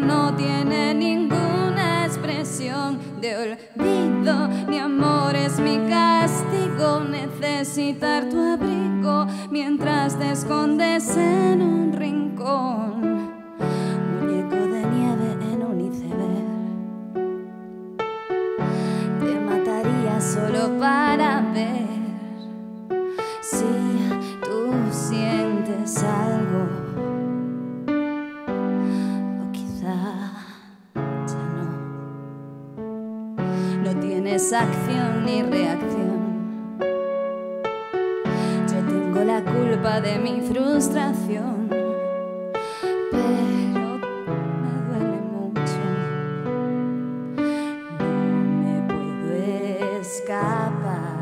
no tiene ninguna expresión de olvido. Mi amor es mi castigo, necesitar tu abrigo mientras te escondes en un rincón. Muñeco de nieve en un iceberg, te mataría solo para ver si tú sientes algo, o quizá ya no. No tienes acción ni reacción. Yo tengo la culpa de mi frustración, pero me duele mucho. No me puedo escapar.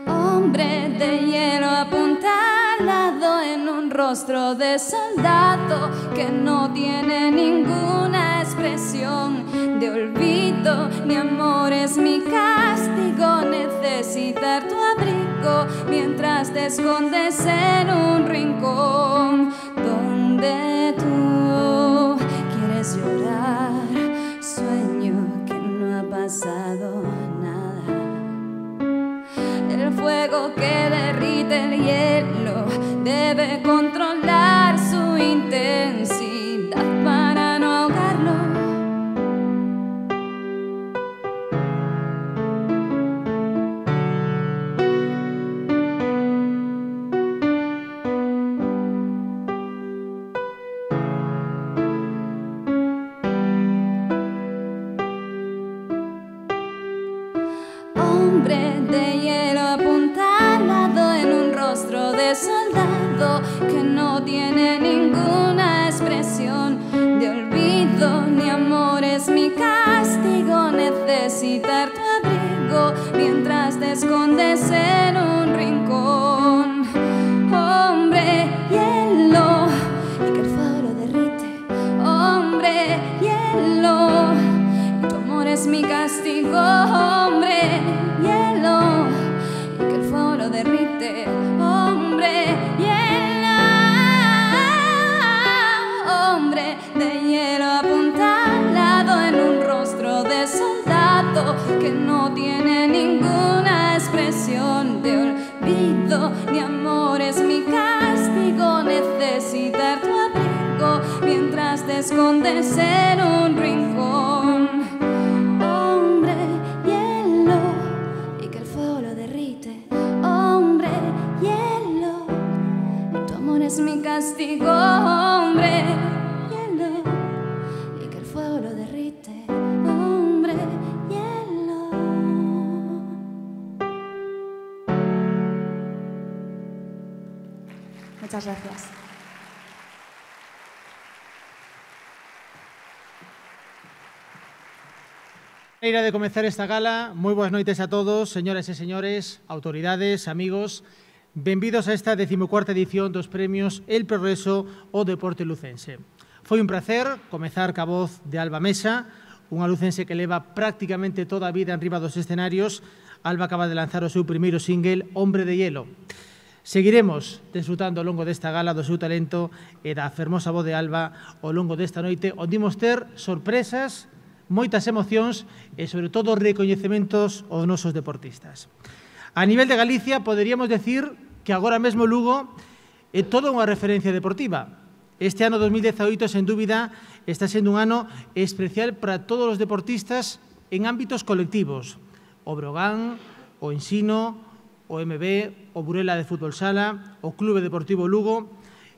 Hombre de hielo apuntalado en un rostro de soldado que no tiene ninguna expresión de olvido. Mi amor es mi castigo, necesitar tu abrigo mientras te escondes en un rincón donde tú quieres llorar. Sueño que no ha pasado nada. El fuego que derrite el hielo debe controlar su intensidad para no ahogarlo. Hombre de hielo apuntalado en un rostro de soldado que no tiene ninguna expresión de olvido. Mi amor es mi castigo, necesitar tu abrigo mientras te escondes en un rincón. Hombre hielo, y que el fuego lo derrite. Hombre hielo, y tu amor es mi castigo. Hombre hielo, y que el fuego lo derrite. Hombre hielo, hombre de hielo apuntalado en un rostro de soldado que no tiene ninguna expresión de olvido. Mi amor es mi castigo, necesitar tu abrigo mientras te escondes en un rincón. Hombre hielo, y que el fuego lo derrite. Hombre hielo, y tu amor es mi castigo. Hombre hielo, y que el fuego lo derrite. Hombre hielo. Muchas gracias. Maneira de comezar esta gala. Moi boas noites a todos, señoras e señores, autoridades, amigos. Benvidos a esta 14ª edición dos premios El Progreso ao Deporte Lucense. Foi un placer comezar ca voz de Alba Mesa, unha lucense que leva prácticamente toda a vida enriba dos escenarios. Alba acaba de lanzar o seu primeiro single, Hombre de Hielo. Seguiremos desfrutando ao longo desta gala do seu talento e da fermosa voz de Alba ao longo desta noite, onde imos ter sorpresas, moitas emocións e, sobre todo, recoñecementos aos nosos deportistas. A nivel de Galicia, poderíamos decir que agora mesmo Lugo é toda unha referencia deportiva. Este ano 2018, sen dúbida, está sendo un ano especial para todos os deportistas en ámbitos colectivos. O Brogan, o Ensino, o MB, o Burela de Fútbol Sala, o Clube Deportivo Lugo,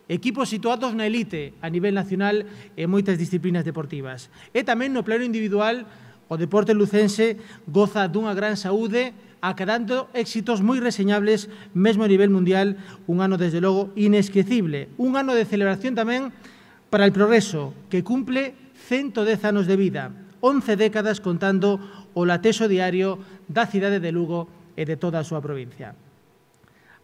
equipos situados na elite a nivel nacional en moitas disciplinas deportivas. E tamén no plano individual, o deporte lucense goza dunha gran saúde, acadando éxitos moi reseñables mesmo a nivel mundial. Un ano, desde logo, inesquecible. Un ano de celebración tamén para el Progreso, que cumple 110 anos de vida, 11 décadas contando o latexo diario da cidade de Lugo e de toda a súa provincia.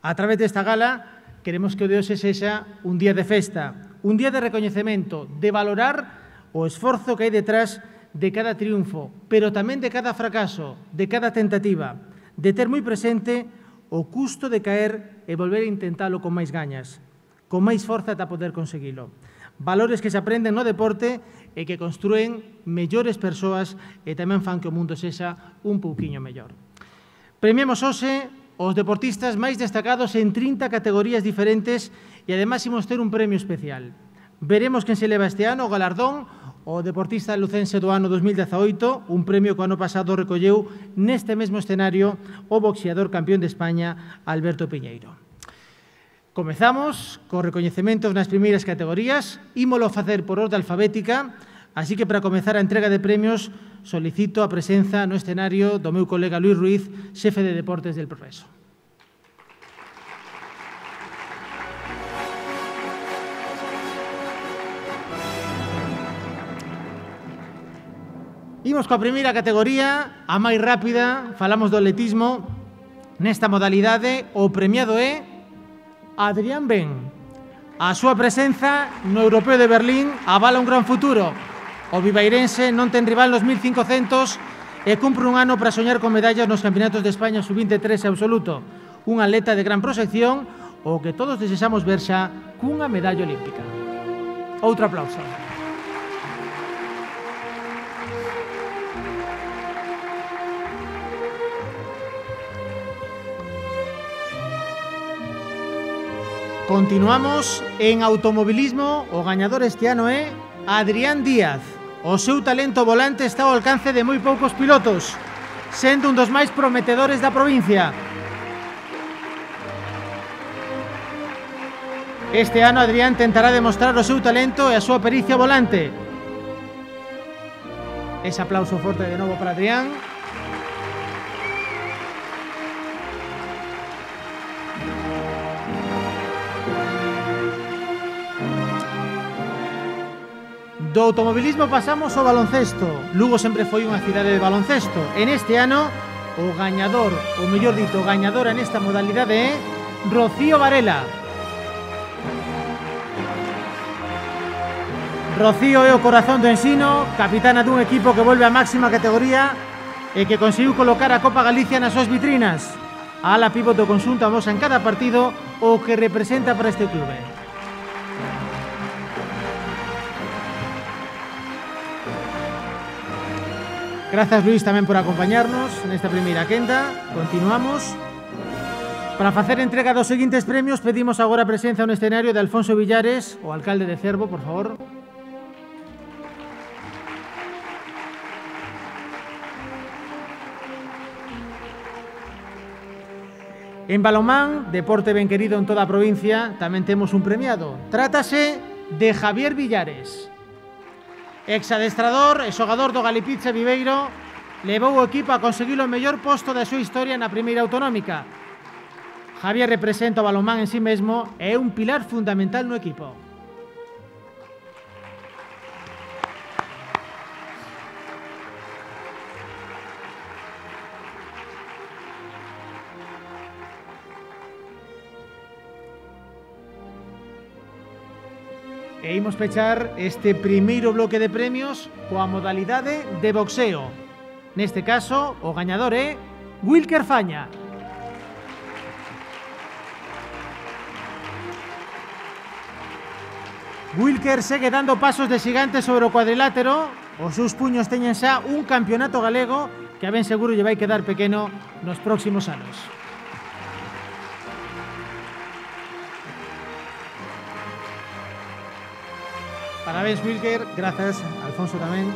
A través desta gala, queremos que o de hoxe sexa un día de festa, un día de recoñecemento, de valorar o esforzo que hai detrás de cada triunfo, pero tamén de cada fracaso, de cada tentativa, de ter moi presente o custo de caer e volver a intentalo con máis gañas, con máis forza ata poder conseguilo. valores que se aprenden no deporte e que construen mellores persoas e tamén fan que o mundo sexa un pouquiño mellor. Premiamos hoxe os deportistas máis destacados en 30 categorías diferentes e ademais imos ter un premio especial. Veremos quen se leva este ano o galardón o deportista lucense do ano 2018, un premio que o ano pasado recolleu neste mesmo escenario o boxeador campeón de España, Alberto Piñeiro. Comezamos co recoñecementos nas primeiras categorías, ímolo facer por orde alfabética, así que para comezar a entrega de premios solicito a presenza no escenario do meu colega Luis Ruiz, xefe de Deportes del Progreso. Imos coa primeira categoría, a máis rápida, falamos do atletismo. Nesta modalidade, o premiado é Adrián Ben. A súa presenza no Europeo de Berlín avala un gran futuro. O vivairense non ten rival nos 1500 e cumpre un ano para soñar con medallas nos Campeonatos de España sub-23 absoluto. Un atleta de gran proxección, o que todos desexamos ver xa cunha medalla olímpica. Outro aplauso. Continuamos en automobilismo. O gañador este ano é Adrián Díaz. O seu talento volante está ao alcance de moi poucos pilotos, sendo un dos máis prometedores da provincia. Este ano Adrián tentará demostrar o seu talento e a súa pericia volante. Ese aplauso forte de novo para Adrián. Do automobilismo pasamos ao baloncesto. Lugo sempre foi unha cidade de baloncesto. En este ano, o gañador, ou mellor dito, gañadora nesta modalidade é Rocío Varela. Rocío é o corazón do ensino, capitana dun equipo que volve á máxima categoría e que conseguiu colocar a Copa Galicia nas súas vitrinas. A ala pívot do conxunto amosa en cada partido o que representa para este clube. Grazas, Luis, tamén por acompañarnos nesta primeira quenda. Continuamos. Para facer entrega dos seguintes premios, pedimos agora a presenza no escenario de Alfonso Villares, o alcalde de Cervo, por favor. En balonmán, deporte ben querido en toda a provincia, tamén temos un premiado. Trátase de Javier Villares. Exadestrador e xogador do Galipizza Viveiro, levou o equipo a conseguir o mellor posto da súa historia na primeira autonómica. Javier representa o balonmán en sí mesmo e é un pilar fundamental no equipo. E imos pechar este primeiro bloque de premios coa modalidade de boxeo. Neste caso, o gañador é Wilker Faña. Wilker segue dando pasos de xigante sobre o cuadrilátero. Os seus puños teñen xa un campeonato galego que a ben seguro lle vai quedar pequeno nos próximos anos. Parabéns, Wilker. Grazas, Alfonso, tamén.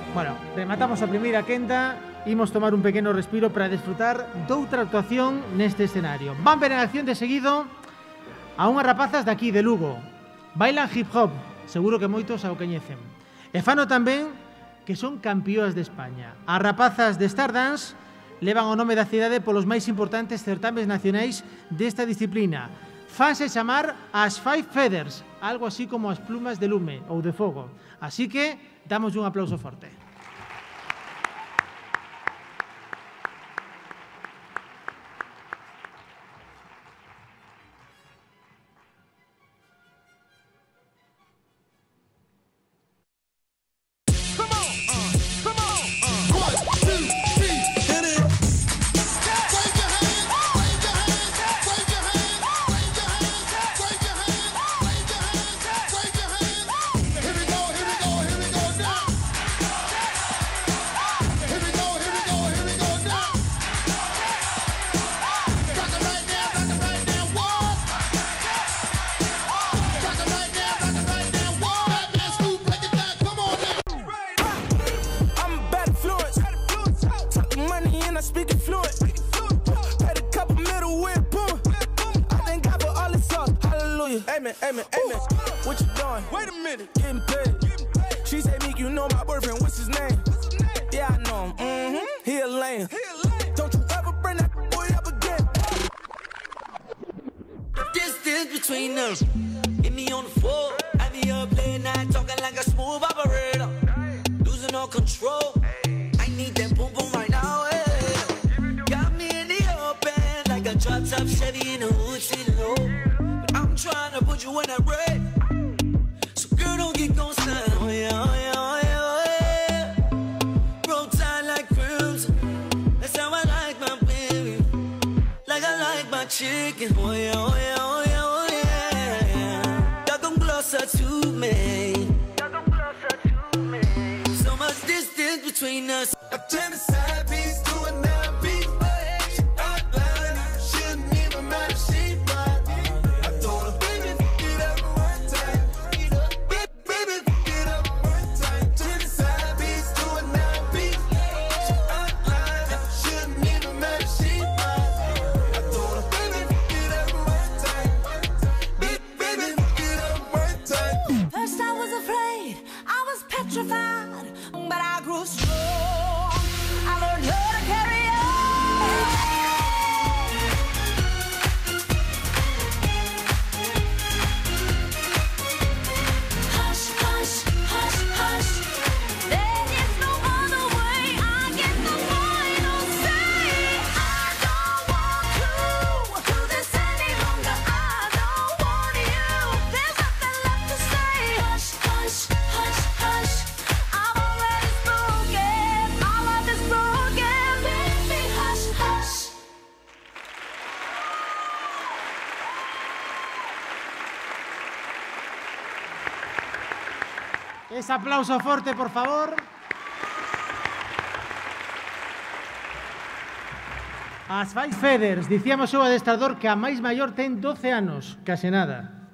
Bueno, rematamos a primeira quenda. Imos tomar un pequeno respiro para desfrutar doutra actuación neste escenario. Van ver en acción de seguido a unhas rapazas de aquí, de Lugo. Bailan hip hop, seguro que moitos a o coñecen. E fano tamén que son campeoas de España. As rapazas de Stardance levan o nome da cidade polos máis importantes certames nacionais desta disciplina. Fanse chamar as Five Feathers, algo así como as plumas de lume ou de fogo. Así que damos un aplauso forte. getting paid. She say, Meek, you know my boyfriend, what's his name? Yeah, I know him. He a lame. Don't you ever bring that boy up again. The distance between us. Hit me on the floor. I be up late night talking like a smooth operator. Losing all control. I need that boom boom right now. Got me in the open like a drop top Chevy in the hood sitting low. But I'm trying to put you in that red. So girl, don't get gon' stand. Oh yeah, oh yeah, oh yeah, oh yeah. Roll tight like crimson. That's how I like my baby. Like I like my chicken. Oh yeah, oh yeah, oh yeah, oh yeah. Y'all come closer to me. So much distance between us. I turn the side piece to a 9-piece. She outline, she didn't even matter, she fine. I told her, baby, get up one time. Baby, get up one time. Turn the side piece to a 9-piece. She outline, she didn't even matter, she fine. I told her, baby, get up one time. Baby, get up one time. First I was afraid, I was petrified, but I grew strong. I learned how to carry on. Hush, hush, hush, hush. There is no other way. I get the final say. I don't want to do this any longer. I don't want you. There's nothing left to say. Hush, hush, hush, hush. I've already spoken. My love is broken. Baby, hush, hush. Ese aplauso forte, por favor. As Five Feathers, dicíamos o adestrador que a máis maior ten 12 anos, case nada.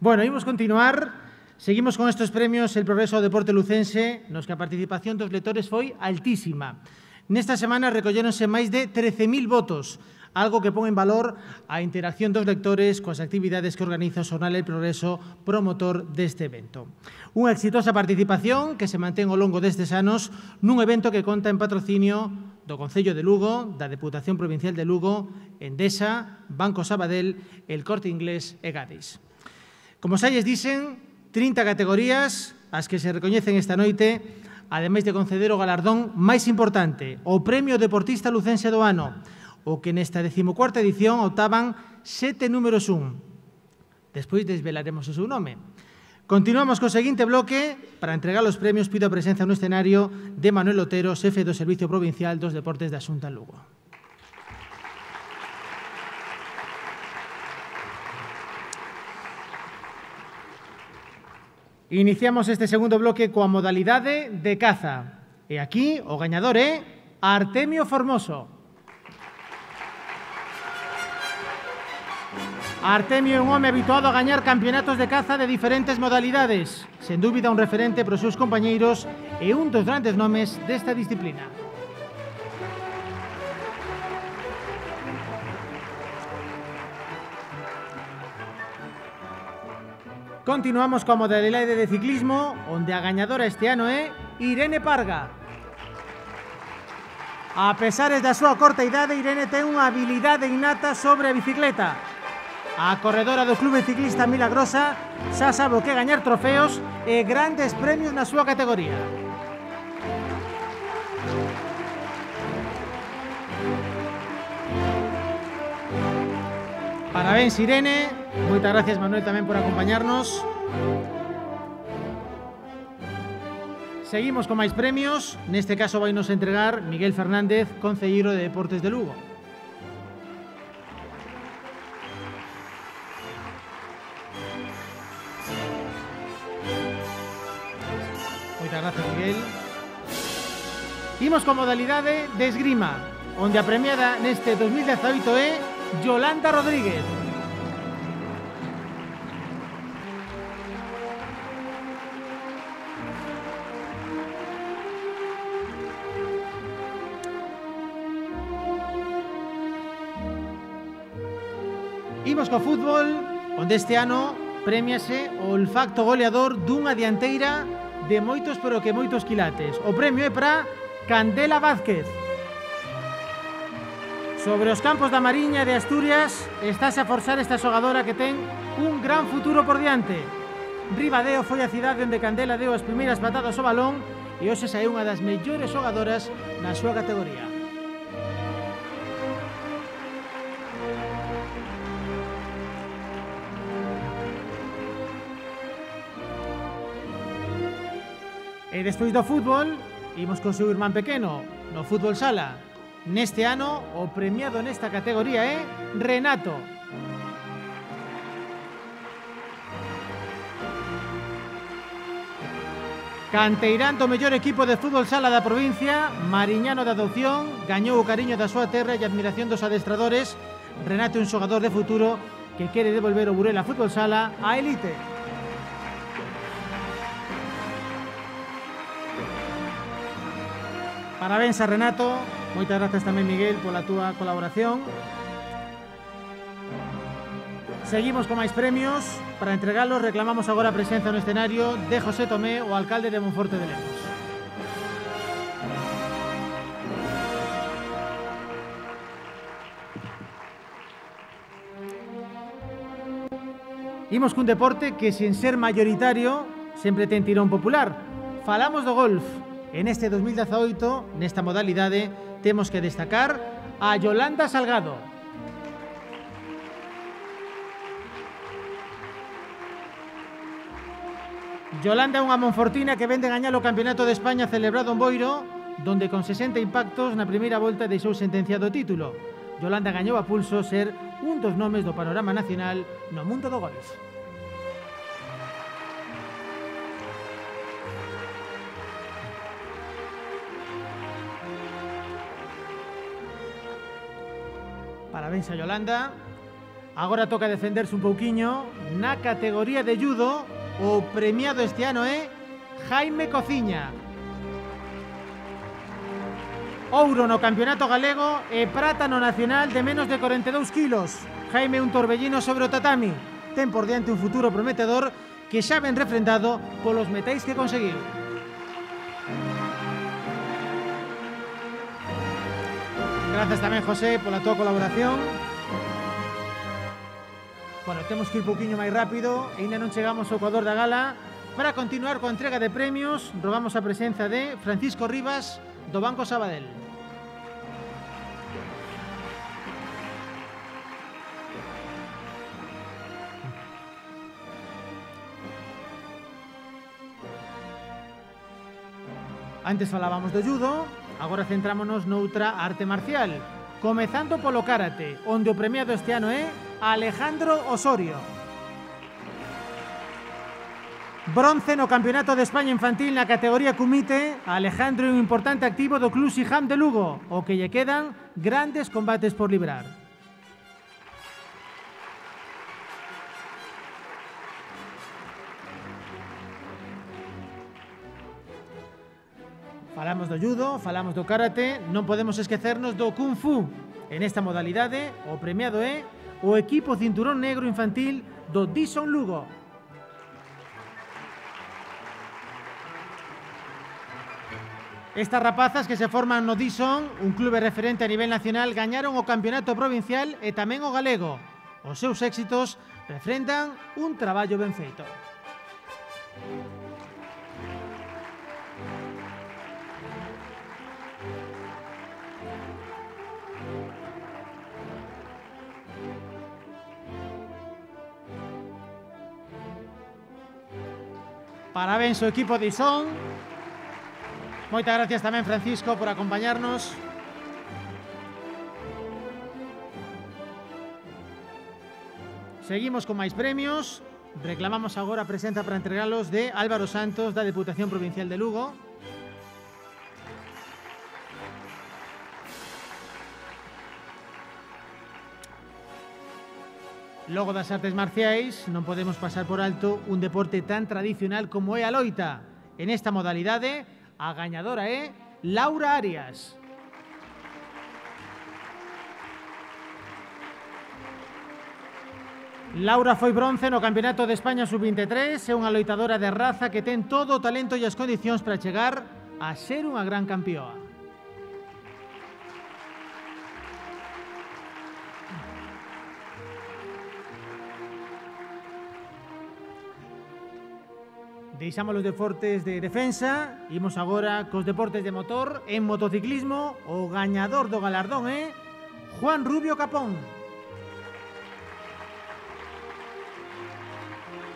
Bueno, imos continuar. Seguimos con estes premios El Progreso ao Deporte Lucense, nos que a participación dos lectores foi altísima. Nesta semana recolléronse máis de 13.000 votos, algo que pon en valor a interacción dos lectores coas actividades que organiza o xornal El Progreso, promotor deste evento. Unha exitosa participación que se mantén ao longo destes anos nun evento que conta en patrocinio do Concello de Lugo, da Deputación Provincial de Lugo, Endesa, Banco Sabadell, El Corte Inglés e Gadis. Como xa lles dixen, 30 categorías as que se recoñecen esta noite, ademais de conceder o galardón máis importante, o Premio Deportista Lucense do Ano, o que nesta 14ª edición optaban 7 números 1. Despois desvelaremos o seu nome. Continuamos co seguinte bloque. Para entregar os premios pido a presenza no escenario de Manuel Otero, xefe do Servicio Provincial dos Deportes da Xunta Lugo. Iniciamos este segundo bloque coa modalidade de caza. E aquí o gañador é Artemio Formoso. Artemio é un home habituado a gañar campeonatos de caza de diferentes modalidades. Sen dúbida un referente para os seus compañeiros e un dos grandes nomes desta disciplina. Continuamos coa modalidade de ciclismo, onde a gañadora este ano é Irene Parga. A pesares da súa corta idade, Irene ten unha habilidade innata sobre a bicicleta. A corredora do Clube Ciclista Milagrosa xa sabe o que gañar trofeos e grandes premios na súa categoría. Parabéns, Irene. Moitas gracias, Manuel, tamén por acompañarnos. Seguimos con máis premios. Neste caso vai nos entregar Miguel Fernández, concelleiro de Deportes de Lugo. Moitas gracias, Miguel. Imos con modalidade de esgrima, onde a premiada neste 2018 é Yolanda Rodríguez. Imos co fútbol, onde este ano Prémiase o olfacto goleador dunha dianteira de moitos pero que moitos quilates. O premio é para Candela Vázquez. Sobre os campos da Mariña de Asturias estáse a forzar esta xogadora que ten un gran futuro por diante. Ribadeo foi a cidade onde Candela deu as primeiras patadas ao balón e hoxe é unha das mellores xogadoras na súa categoría. E despois do fútbol, imos con seu irmán pequeno, no fútbol sala. Neste ano, o premiado nesta categoría é Renato. Canteirán do mellor equipo de fútbol sala da provincia, mariñano de adopción, gañou o cariño da súa terra e a admiración dos adestradores. Renato é un xogador de futuro que quere devolver o Burela Fútbol Sala á elite. Parabéns a Renato, moitas grazas tamén Miguel pola túa colaboración. Seguimos con máis premios. Para entregalos reclamamos agora a presenza no escenario de José Tomé, o alcalde de Monforte de Lemos. Imos cun deporte que, sen ser mayoritario, sempre ten tirón popular. Falamos do golf. En este 2018, nesta modalidade, temos que destacar a Yolanda Salgado. Yolanda é unha monfortina que vende gañar o Campeonato de España celebrado en Boiro, donde con 60 impactos na primeira volta deixou sentenciado o título. Yolanda gañou a pulso ser un dos nomes do panorama nacional no mundo do golf. Parabéns a Yolanda. Agora toca defenderse un pouquiño. Na categoría de judo, o premiado este ano é Jaime Cociña. Ouro no Campeonato Galego e prata no Nacional de menos de 42 kilos. Jaime é un torbellino sobre o tatami. Ten por diante un futuro prometedor que xa ven refrendado polos metais que conseguiu. Grazas tamén, José, pola tua colaboración. Bueno, temos que ir un pouquiño máis rápido. Ainda non chegamos ao ecuador da gala. Para continuar coa entrega de premios, rogamos a presenza de Francisco Rivas, do Banco Sabadell. Antes falábamos do judo, agora centrámonos noutra arte marcial, comezando polo karate, onde o premiado este ano é Alejandro Osorio. Bronce no Campeonato de España Infantil na categoría Kumite. Alejandro é un importante activo do Club Siham de Lugo, o que lle quedan grandes combates por librar. Falamos do judo, falamos do karate, non podemos esquecernos do kung fu. En esta modalidade, o premiado é o equipo cinturón negro infantil do Dison Lugo. Estas rapazas que se forman no Dison, un clube referente a nivel nacional, gañaron o campeonato provincial e tamén o galego. Os seus éxitos refrendan un traballo ben feito. Parabéns ao equipo de Ison. Moitas gracias tamén, Francisco, por acompañarnos. Seguimos con máis premios. Reclamamos agora a presenza para entregalos de Álvaro Santos, da Deputación Provincial de Lugo. Logo das artes marciais, non podemos pasar por alto un deporte tan tradicional como é a loita. En esta modalidade, a gañadora é Laura Arias. Laura foi bronce no Campeonato de España Sub-23, é unha loitadora de raza que ten todo o talento e as condicións para chegar a ser unha gran campioa. Deixamos os deportes de defensa, imos agora cos deportes de motor. En motociclismo, o gañador do galardón é Juan Rubio Capón.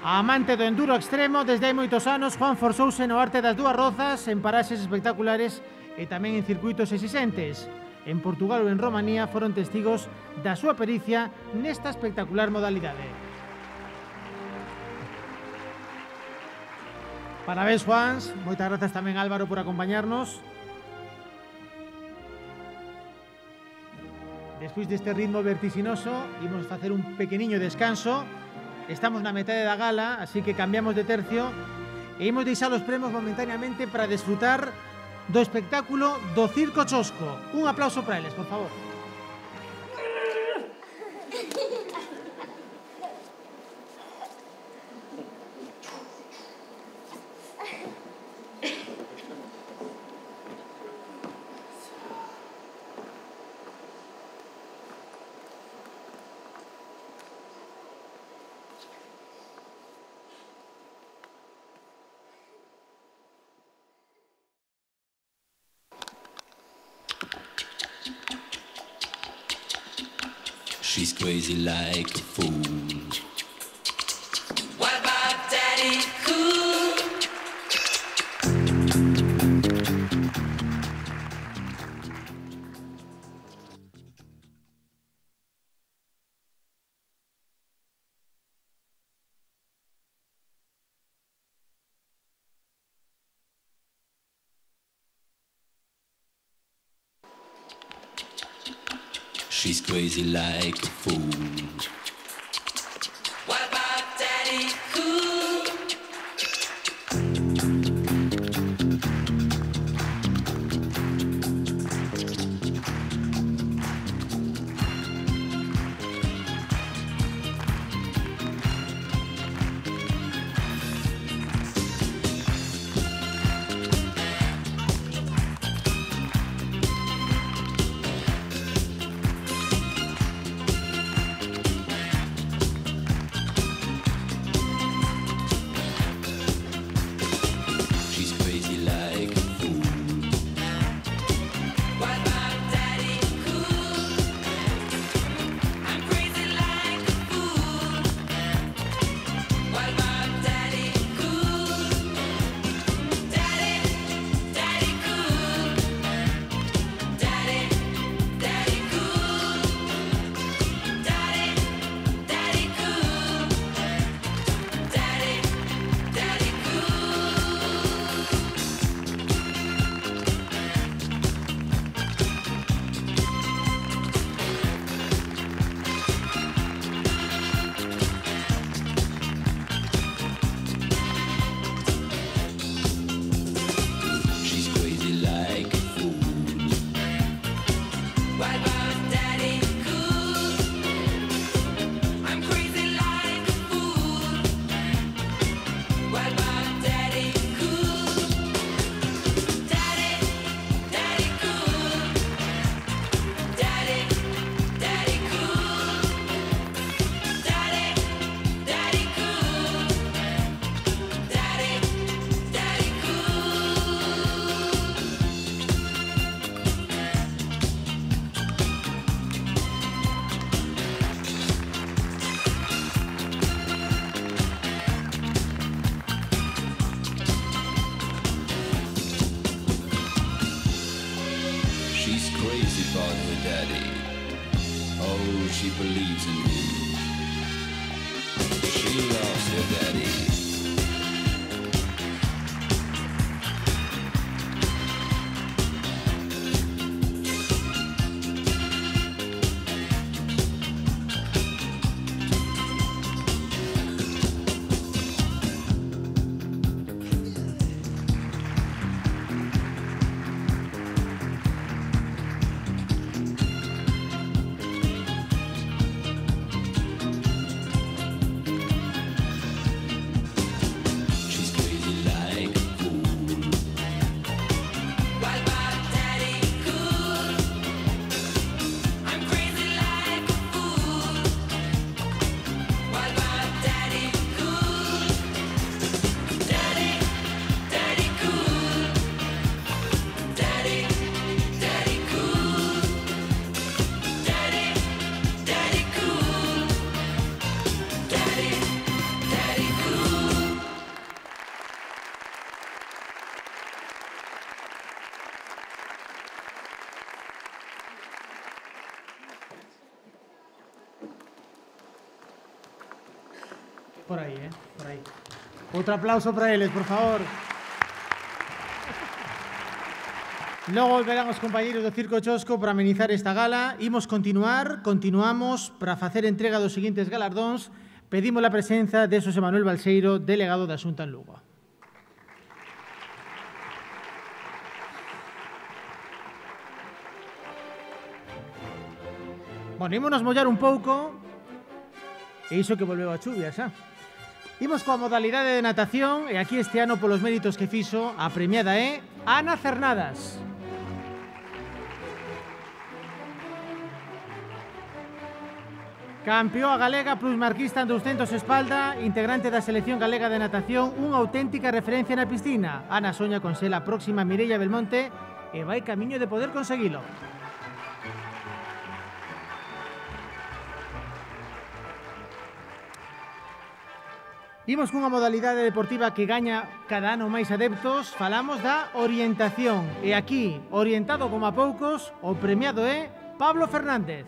A amante do enduro extremo, desde hai moitos anos, Juan forzouse no arte das dúas rozas en paraxes espectaculares e tamén en circuitos exixentes. En Portugal ou en Romanía foron testigos da súa pericia nesta espectacular modalidade. Parabéns, Juans. Moitas grazas tamén, Álvaro, por acompañarnos. Despois deste ritmo vertiginoso, imos facer un pequeniño descanso. Estamos na metade da gala, así que cambiamos de tercio e imos deixar os premios momentaneamente para desfrutar do espectáculo do Circo Chosco. Un aplauso para eles, por favor. She's crazy like a fool. What about Daddy Cool? She's crazy like a fool. What about Daddy Cool? She's crazy like a fool. What about Daddy Cool? I'm crazy like a fool. What about Daddy Cool? Daddy, Daddy Cool. Daddy, Daddy Cool. Daddy, Daddy Cool. Daddy, Daddy Cool. She's crazy like a fool. What about Daddy Cool? I'm crazy like a fool. What about Daddy Cool? Daddy, Daddy Cool. Daddy, Daddy Cool. Daddy, Daddy Cool. Daddy, Daddy Cool. She's crazy about her daddy. Oh, she believes in him. She loves her daddy. Por aí, por aí. Outro aplauso para eles, por favor. Logo volverán os compañeiros do Circo Chosco para amenizar esta gala. Continuamos para facer entrega dos seguintes galardóns. Pedimos a presenza de Xosé Manuel Balseiro, delegado da Xunta en Lugo. Bueno, ímonos mollar un pouco, e iso que volveu a chuvia xa. Imos coa modalidade de natación, e aquí este ano polos méritos que fixo, a premiada é Ana Cernadas. Campeoa galega plusmarquista en 200 espalda, integrante da selección galega de natación, unha auténtica referencia na piscina. Ana soña con ser a próxima Mireia Belmonte e vai camiño de poder conseguilo. Imos cunha modalidade deportiva que gaña cada ano máis adeptos. Falamos da orientación. E aquí, orientado como a poucos, o premiado é Pablo Fernández.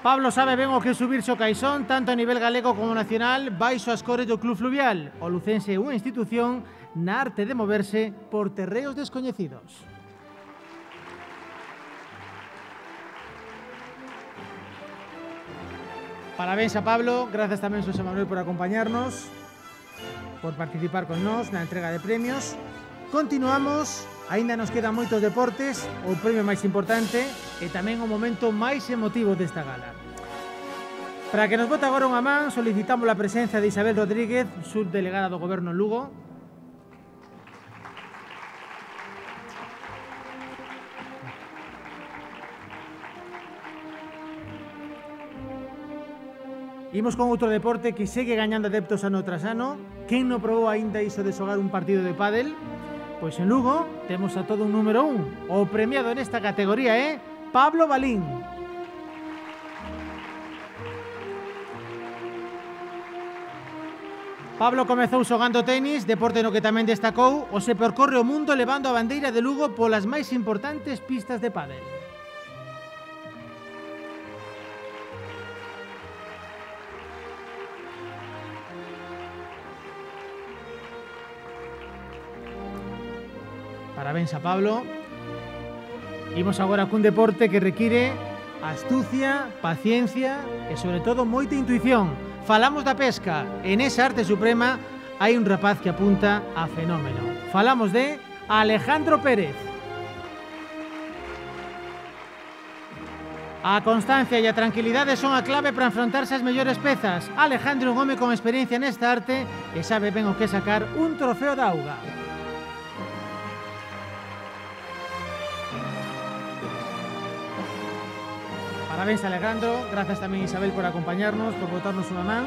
Pablo sabe ben o que é subirse ao caixón, tanto a nivel galego como nacional, baixo as cores do Club Fluvial. O lucense é unha institución na arte de moverse por terreos descoñecidos. Parabéns a Pablo, grazas tamén Xosé Manuel por acompañarnos, por participar con nós na entrega de premios. Continuamos, aínda nos quedan moitos deportes, o premio máis importante e tamén o momento máis emotivo desta gala. Para que nos bote agora unha man, solicitamos a presencia de Isabel Rodríguez, subdelegada do Goberno en Lugo. Imos con outro deporte que segue gañando adeptos ano tras ano. Quen non probou aínda iso de xogar un partido de pádel? Pois en Lugo temos a todo un número 1. O premiado nesta categoría é Pablo Balín. Pablo comezou xogando tenis, deporte no que tamén destacou, o se percorre o mundo levando a bandeira de Lugo polas máis importantes pistas de pádel. Parabéns a Pablo. Imos agora cun deporte que require astucia, paciencia e, sobre todo, moita intuición. Falamos da pesca. En esa arte suprema hai un rapaz que apunta a fenómeno. Falamos de Alejandro Pérez. A constancia e a tranquilidade son a clave para enfrontarse ás mellores pezas. Alejandro é un home con experiencia nesta arte e sabe ben o que sacar un trofeo de auga. Parabéns, Alejandro. Grazas tamén, Isabel, por acompañarnos, por botarnos unha man.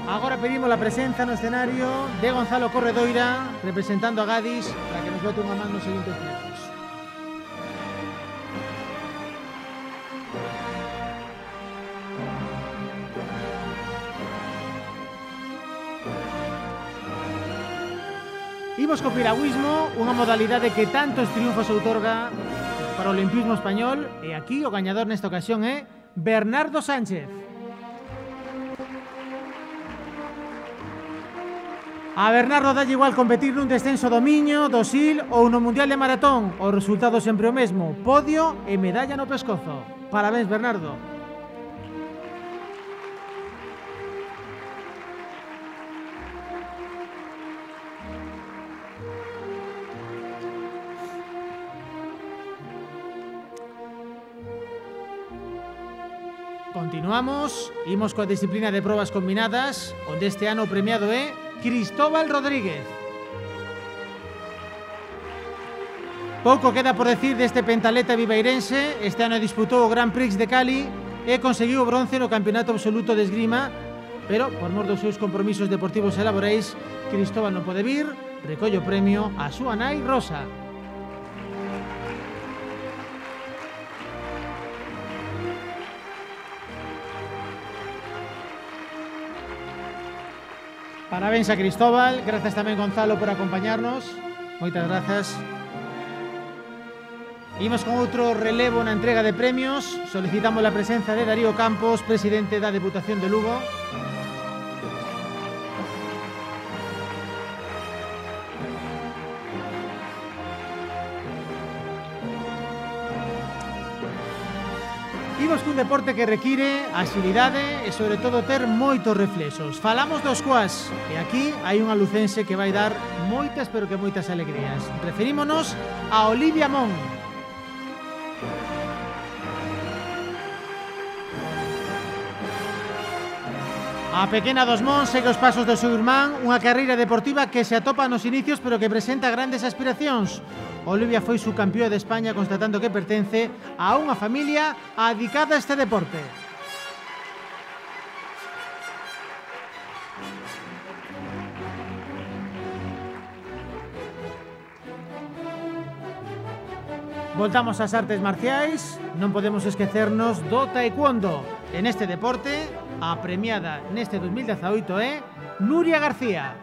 Agora pedimos a presenza no escenario de Gonzalo Corredoira, representando a Gadis, para que nos bote unha man nos seguintes premios. Imos co piragüismo, unha modalidade que tantos triunfos outorga para o olimpismo español, e aquí o gañador nesta ocasión é Bernardo Sánchez. A Bernardo dalle igual competir nun descenso do Miño, do Sil ou no Mundial de Maratón. O resultado sempre o mesmo, podio e medalla no pescozo. Parabéns, Bernardo. Continuamos, imos coa disciplina de probas combinadas, onde este ano o premiado é Cristóbal Rodríguez. Pouco queda por decir deste pentaleta viveirense. Este ano disputou o Grand Prix de Cali e conseguiu o bronce no Campeonato Absoluto de Esgrima, pero por mor dos seus compromisos deportivos e laborais, Cristóbal non pode vir, recolle o premio a súa nai Rosa. Parabéns a Cristóbal, grazas tamén, Gonzalo, por acompañarnos. Moitas grazas. Imos con outro relevo na entrega de premios. Solicitamos a presenza de Darío Campos, presidente da Deputación de Lugo. Imos cun deporte que require axilidade e, sobre todo, ter moitos reflexos. Falamos dos squash e aquí hai unha lucense que vai dar moitas, pero que moitas alegrías. Referímonos a Olivia Mon. A pequena dos Mons segue os pasos do seu irmán, unha carreira deportiva que se atopa nos inicios pero que presenta grandes aspiracións. Olivia foi subcampeona de España constatando que pertence a unha familia adicada a este deporte. Voltamos ás artes marciais, non podemos esquecernos do taekwondo. En este deporte, a premiada neste 2018 é Nuria García.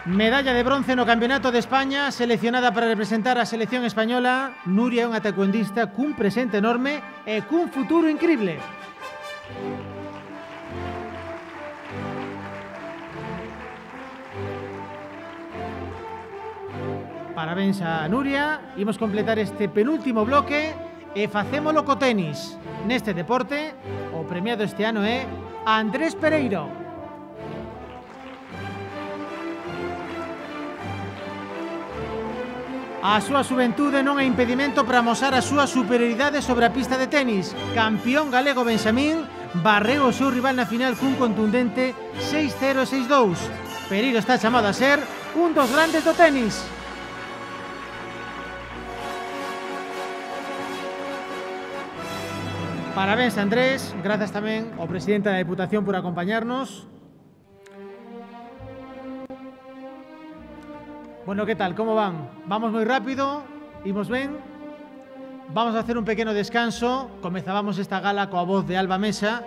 Medalla de bronce no Campeonato de España, seleccionada para representar a selección española. Nuria é unha taekwondista cun presente enorme e cun futuro incrible. Parabéns a Nuria. Imos completar este penúltimo bloque e facémolo co tenis. Neste deporte, o premiado este ano é Andrés Pereiro. A súa xuventude non é impedimento para amosar a súa superioridade sobre a pista de tenis. Campeón galego Benxamín barreu o seu rival na final cun contundente 6-0 e 6-2. Pereiro está chamado a ser un dos grandes do tenis. Parabéns, Andrés. Grazas tamén ao presidente da Deputación por acompañarnos. Bueno, ¿qué tal? ¿Cómo van? Vamos moi rápido, imos ben. Vamos a hacer un pequeno descanso. Comezábamos esta gala coa voz de Alba Mesa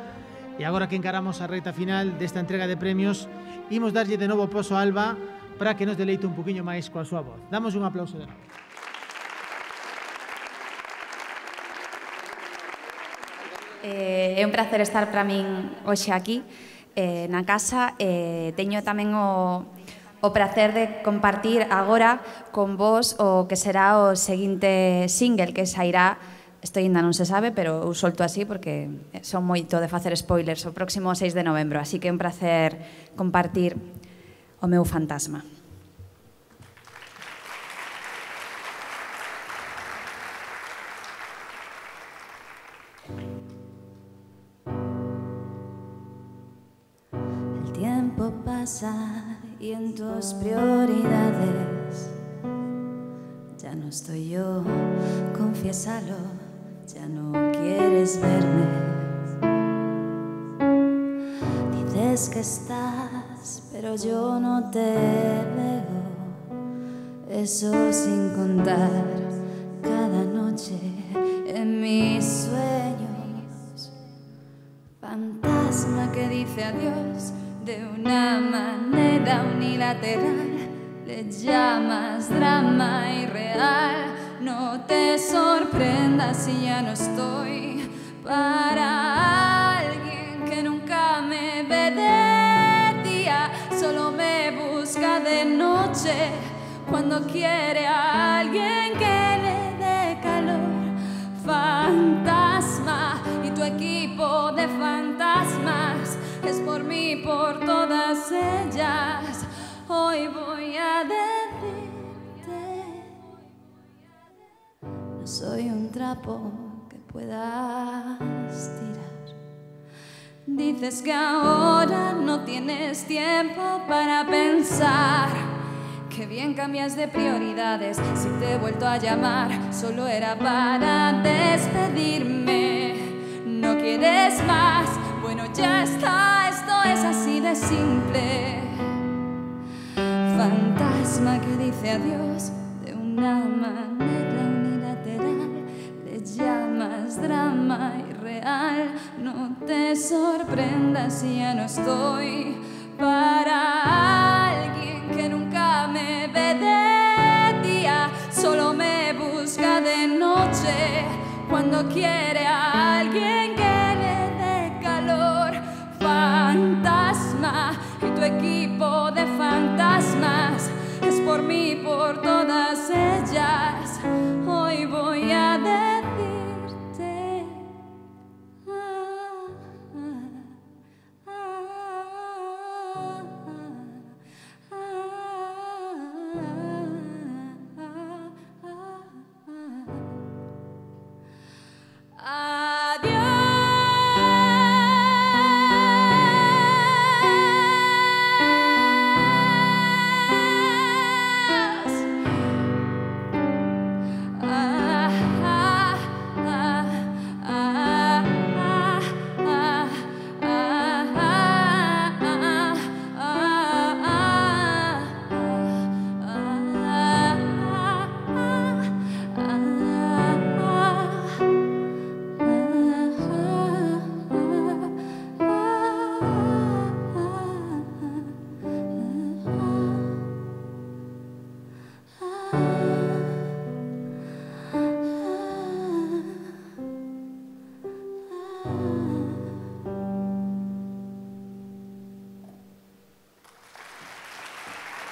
e agora que encaramos a recta final desta entrega de premios, imos darlle de novo poso a Alba para que nos deleite un poquinho máis coa súa voz. Damos un aplauso de novo. É un placer estar para min hoxe aquí na casa. Teño tamén o prazer de compartir agora con vos o que será o seguinte single que sairá, isto ainda non se sabe, pero eu solto así porque son moito de facer spoilers, o próximo 6 de novembro, así que é un prazer compartir o meu fantasma. El tiempo pasa y en tus prioridades ya no estoy yo, confiésalo, ya no quieres verme. Dices que estás, pero yo no te veo, eso sin contar cada noche en mis sueños. Fantasma que dice adiós de una manera unilateral, le llamas drama irreal. No te sorprendas si ya no estoy para alguien que nunca me ve de día, solo me busca de noche cuando quiere a alguien que le dé calor. Fantasma y tu equipo de fantasmas es por mí, por todas ellas. Hoy voy a decirte, no soy un trapo que puedas tirar. Dices que ahora no tienes tiempo para pensar. Qué bien cambias de prioridades. Si te he vuelto a llamar, solo era para despedirme. No quieres más, bueno ya está, esto es así de simple. Fantasma que dice adiós de una manera unilateral, le llamas drama irreal. No te sorprendas si ya no estoy para alguien que nunca solo quiere a alguien que le dé calor. Fantasma, y tu equipo de fantasmas es por mí, por todas ellas. Hoy voy a decirte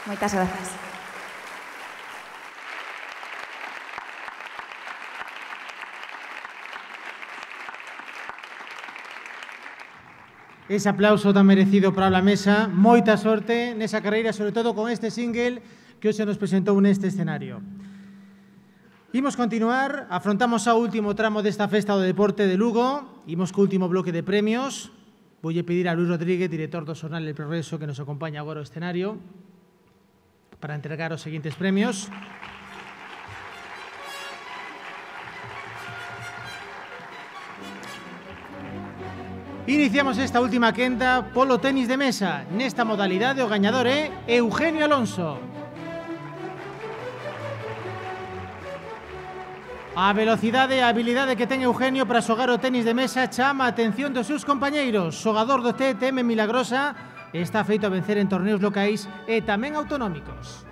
Moitas grazas. Ese aplauso tan merecido para la mesa. Moita sorte nesa carreira, sobre todo con este single que hoxe nos presentou neste escenario. Imos continuar, afrontamos ao último tramo desta festa do deporte de Lugo. Imos co último bloque de premios. Voulle pedir a Luis Rodríguez, director do xornal El Progreso, que nos acompaña agora ao escenario para entregar os seguintes premios. Iniciamos esta última quenda polo tenis de mesa. Nesta modalidade o gañador é Eugenio Alonso. A velocidade e a habilidade que ten Eugenio para xogar o tenis de mesa chama a atención dos seus compañeiros. Xogador do TTM Milagrosa, está feito a vencer en torneos locais e tamén autonómicos.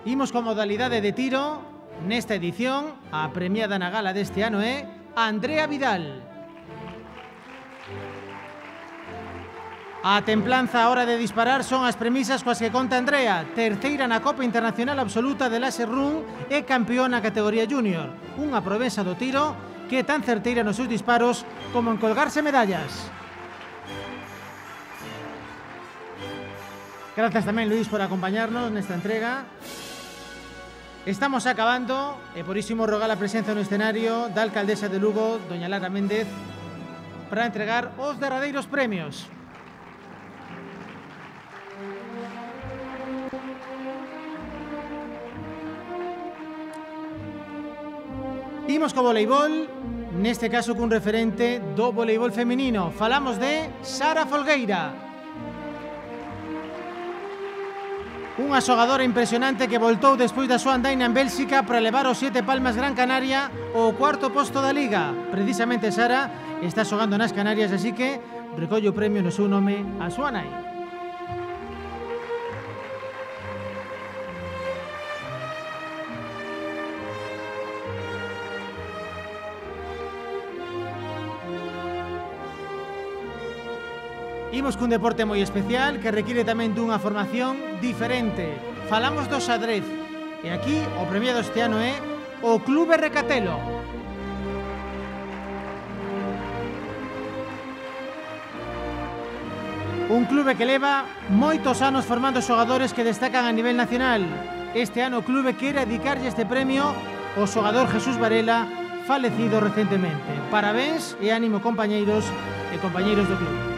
Imos con modalidade de tiro. Nesta edición, a premiada na gala deste ano é Andrea Vidal. A templanza a hora de disparar son as premisas coas que conta Andrea, terceira na Copa Internacional Absoluta de Laser Run e campeón na categoría junior. Unha promesa do tiro que é tan certeira nos seus disparos como en colgarse medallas. Grazas tamén, Luis, por acompañarnos nesta entrega. Estamos acabando e por iso imos rogar a presenza no escenario da alcaldesa de Lugo, doña Lara Méndez, para entregar os derradeiros premios. Imos co voleibol, neste caso cun referente do voleibol feminino. Falamos de Sara Folgueira. Unha xogadora impresionante que voltou despois da súa andaina en Bélxica para levar os 7 Palmas Gran Canaria ao cuarto posto da Liga. Precisamente Sara está xogando nas Canarias, así que recolle o premio no seu nome a súa nai. Imos cun deporte moi especial que requiere tamén dunha formación diferente. Falamos do xadrez. E aquí o premiado este ano é o Clube Recatelo. Un clube que leva moitos anos formando xogadores que destacan a nivel nacional. Este ano o clube quere dedicarlle este premio ao xogador Jesús Varela, falecido recentemente. Parabéns e ánimo, compañeiros e compañeiros do clube.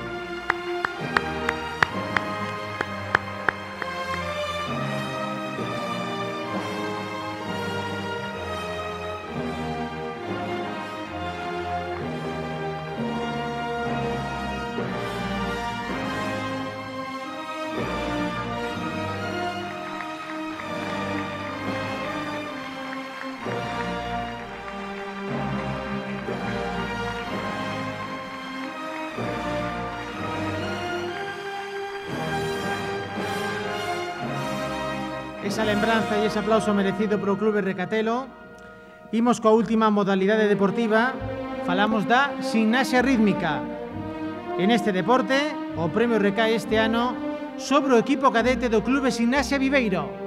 esa lembranza e ese aplauso merecido pro Clube Recatelo. Imos coa última modalidade deportiva, falamos da gimnasia rítmica. En este deporte, o premio recae este ano sobre o equipo cadete do Clube Gimnasia Viveiro.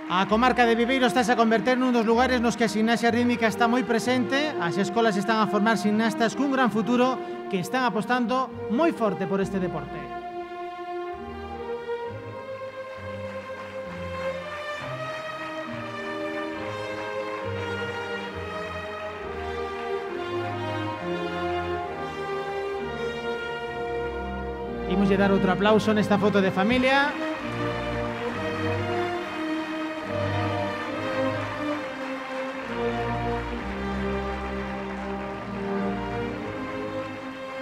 A comarca de Viveiro estás a converter nun dos lugares nos que a gimnasia rítmica está moi presente. As escolas están a formar gimnastas cun gran futuro que están apostando moi forte por este deporte. Imos lle dar outro aplauso nesta foto de familia.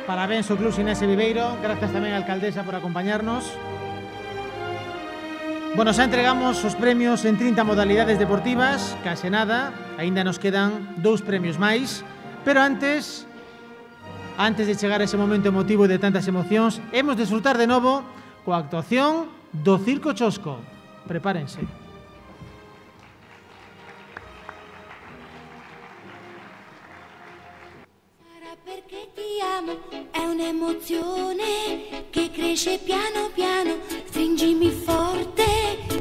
Parabéns ao Club Gimnasia Viveiro, grazas tamén á alcaldesa por acompañarnos. Bueno, xa entregamos os premios en 30 modalidades deportivas, case nada, aínda nos quedan 2 premios máis, pero antes de chegar a ese momento emotivo de tantas emocións, hemos de disfrutar de novo coa actuación do Circo Chosco. Prepárense. Perché ti amo, è un'emozione che cresce piano piano, stringimi forte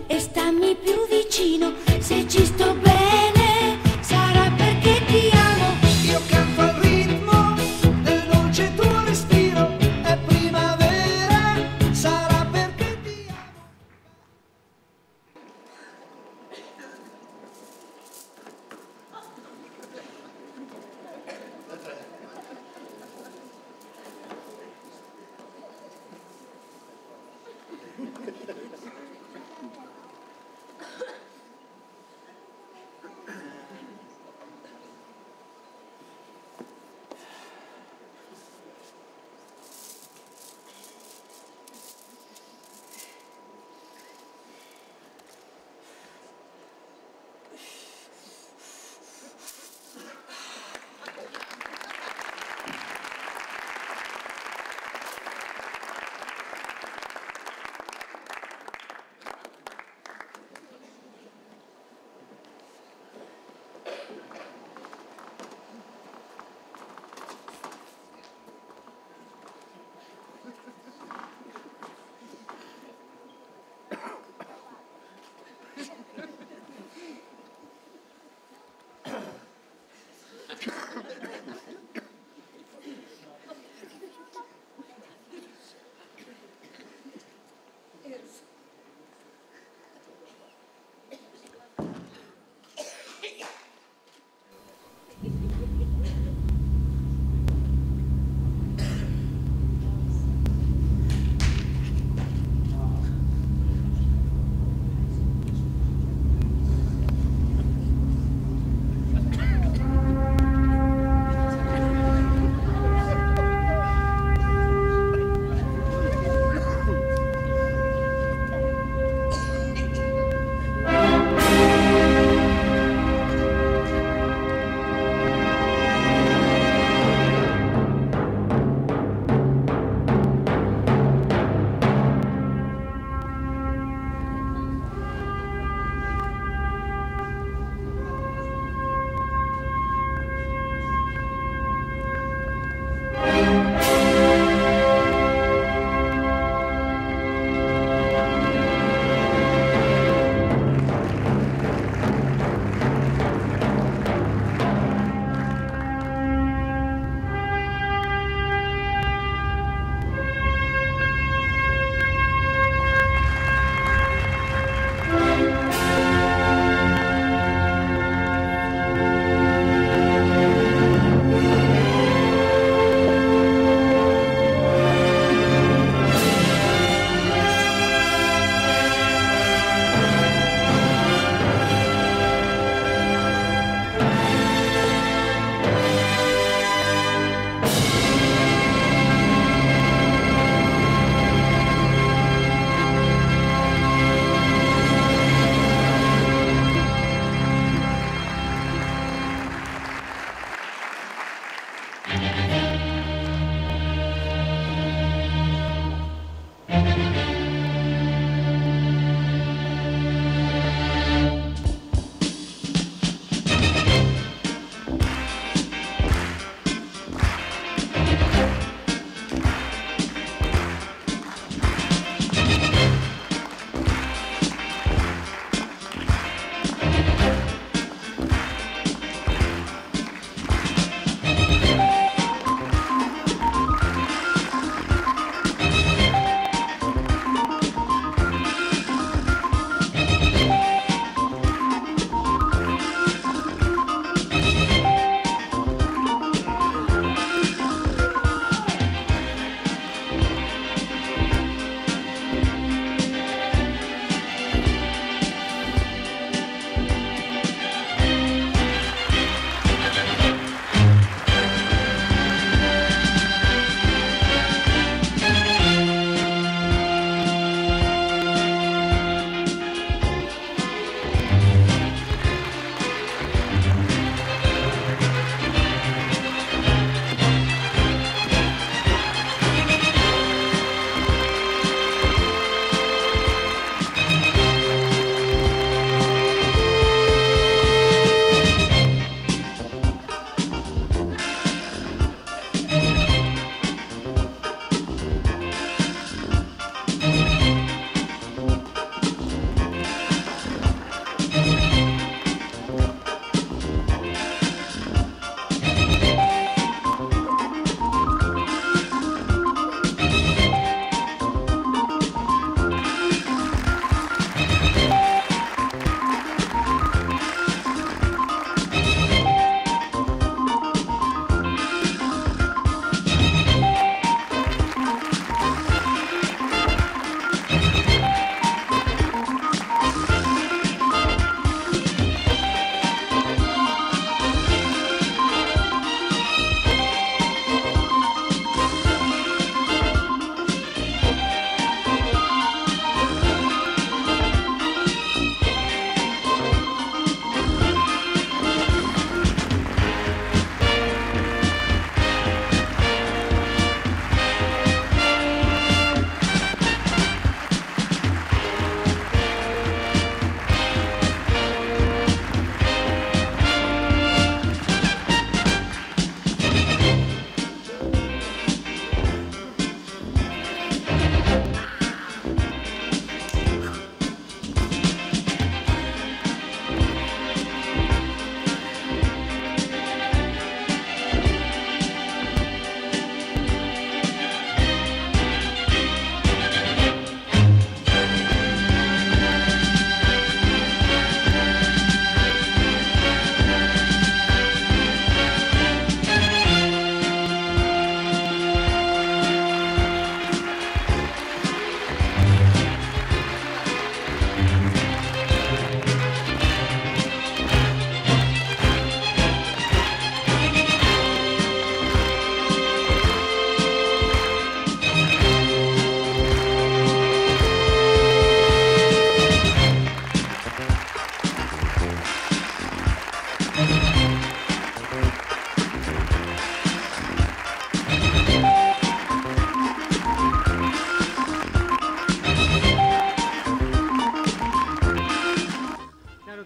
e stammi più vicino, se ci sto bene sarà perché ti amo. Io canto al ritmo del dolce tuo respiro, è primavera, sarà perché ti amo.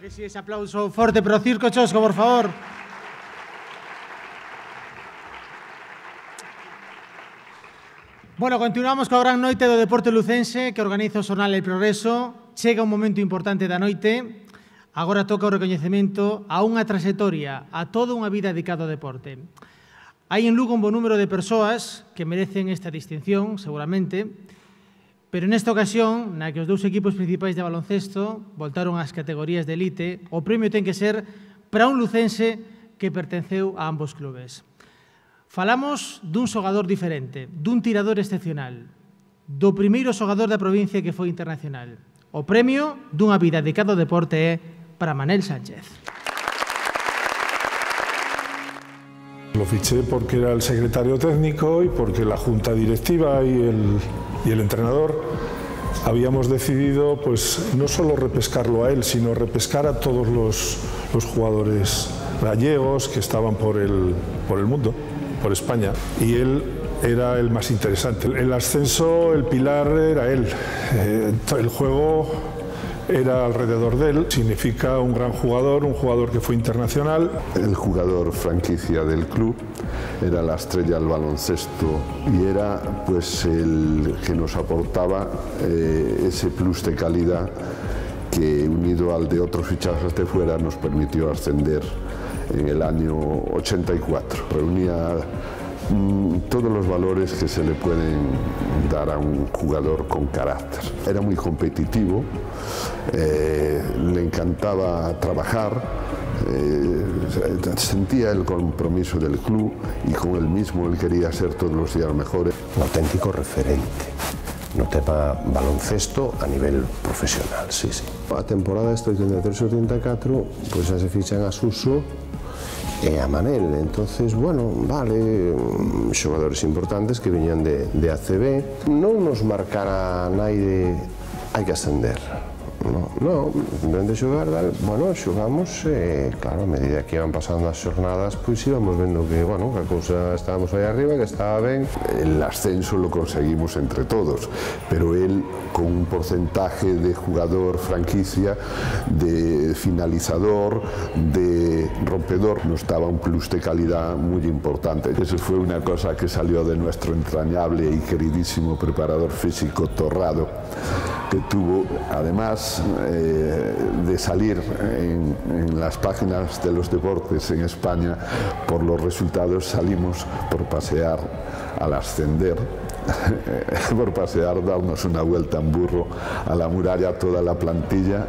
que sí, ese aplauso forte para o Circo Chosco, por favor. Bueno, continuamos coa gran noite do deporte lucense que organiza o xornal El Progreso. Chega un momento importante da noite. Agora toca o recoñecemento a unha trayectoria, a toda unha vida dedicada ao deporte. Hai en Lugo un bon número de persoas que merecen esta distinción, seguramente, pero nesta ocasión, na que os dous equipos principais de baloncesto voltaron ás categorías de elite, o premio ten que ser para un lucense que pertenceu a ambos clubes. Falamos dun xogador diferente, dun tirador excepcional, do primeiro xogador da provincia que foi internacional. O premio dunha vida dedicada ao deporte é para Manel Sánchez. Lo fiché porque era el secretario técnico y porque la junta directiva y el entrenador habíamos decidido pues no solo repescarlo a él, sino repescar a todos los jugadores gallegos que estaban por el mundo, por España, y él era el más interesante. El ascenso, el pilar era él, el juego era alrededor de él. Significa un gran jugador, un jugador que fue internacional. El jugador franquicia del club, era la estrella del baloncesto y era pues el que nos aportaba ese plus de calidad que, unido al de otros fichajes de fuera, nos permitió ascender en el año 84. Reunía todos los valores que se le pueden dar a un jugador con carácter. Era muy competitivo, le encantaba trabajar, sentía el compromiso del club y con él mismo él quería ser todos los días mejor. Un auténtico referente no tema baloncesto a nivel profesional, sí, sí. A temporada este 83-84 pues xa se fichan a Suso e a Manel, entonces, bueno, vale, xogadores importantes que viñan de ACB. Non nos marcara naide hai que ascender. No, simplemente xogar, bueno, xogamos e, claro, a medida que iban pasando as xornadas, pois íbamos vendo que, bueno, que a cousa estábamos aí arriba, que estaba ben. El ascenso lo conseguimos entre todos, pero él, con un porcentaje de jugador franquicia, de finalizador, de rompedor, nos daba un plus de calidad muy importante. Eso fue una cosa que salió de nuestro entrañable y queridísimo preparador físico Torrado, que tuvo, además de salir en las páginas de los deportes en España por los resultados, salimos por pasear al ascender, por pasear, darnos una vuelta en burro a la muralla, toda la plantilla,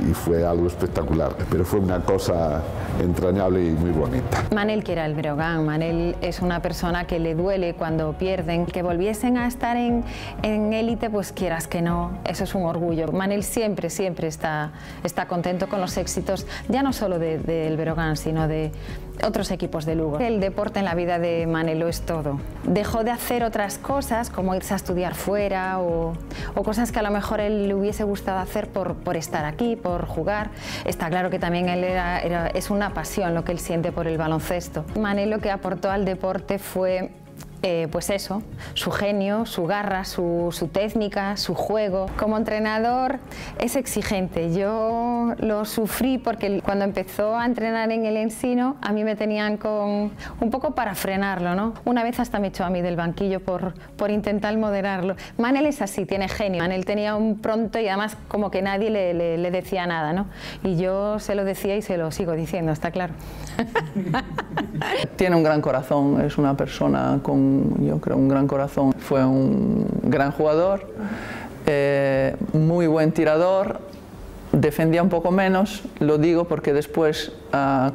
y fue algo espectacular, pero fue una cosa entrañable y muy bonita. Manel quiere el Breogán. Manel es una persona que le duele cuando pierden. Que volviesen a estar en élite, pues quieras que no, eso es un orgullo. Manel siempre está contento con los éxitos, ya no solo del Breogán, sino de otros equipos de Lugo. El deporte en la vida de Manel lo es todo. Dejó de hacer otras cosas, como irse a estudiar fuera o cosas que a lo mejor él le hubiese gustado hacer por estar aquí, por jugar. Está claro que también él es una pasión lo que él siente por el baloncesto. Manel lo que aportó al deporte fue pues eso, su genio, su garra, su técnica, su juego. Como entrenador es exigente. Yo lo sufrí porque cuando empezó a entrenar en el Ensino, a mí me tenían un poco para frenarlo, ¿no? Una vez hasta me echó a mí del banquillo por intentar moderarlo. Manel es así, tiene genio. Manel tenía un pronto y además como que nadie le decía nada, ¿no? Y yo se lo decía y se lo sigo diciendo, está claro. Tiene un gran corazón, es una persona con, yo creo, un gran corazón. Fue un gran jugador, muy buen tirador, defendía un poco menos, lo digo porque después,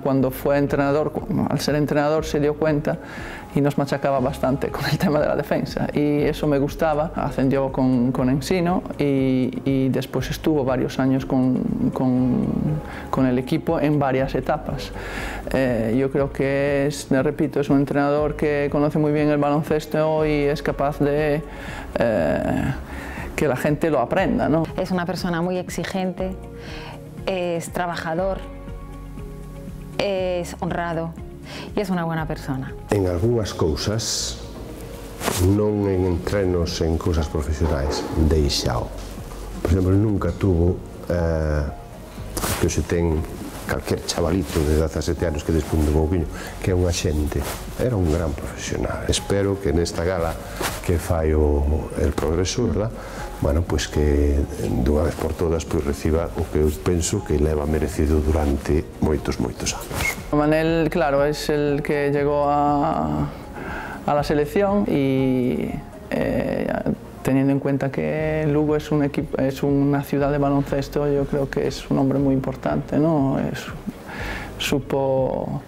cuando fue entrenador, al ser entrenador se dio cuenta y nos machacaba bastante con el tema de la defensa, y eso me gustaba. Ascendió con Ensino y después estuvo varios años con el equipo en varias etapas. Yo creo que repito, es un entrenador que conoce muy bien el baloncesto y es capaz de que la gente lo aprenda, ¿no? Es una persona muy exigente, es trabajador, es honrado e es unha buena persona. En algunhas cousas, non en entrenos, en cousas profesionais, deixao. Por exemplo, nunca tuvo que se ten calquer chavalito de 17 anos que despunde un pouquinho, que é un axente, era un gran profesional. Espero que nesta gala que fai el Progreso, verdad? Bueno, pois que dunha vez por todas pois reciba o que eu penso que leva merecido durante moitos anos. Manel, claro, es el que llegó a la selección y teniendo en cuenta que Lugo es una ciudad de baloncesto, yo creo que es un hombre muy importante, ¿no? Supo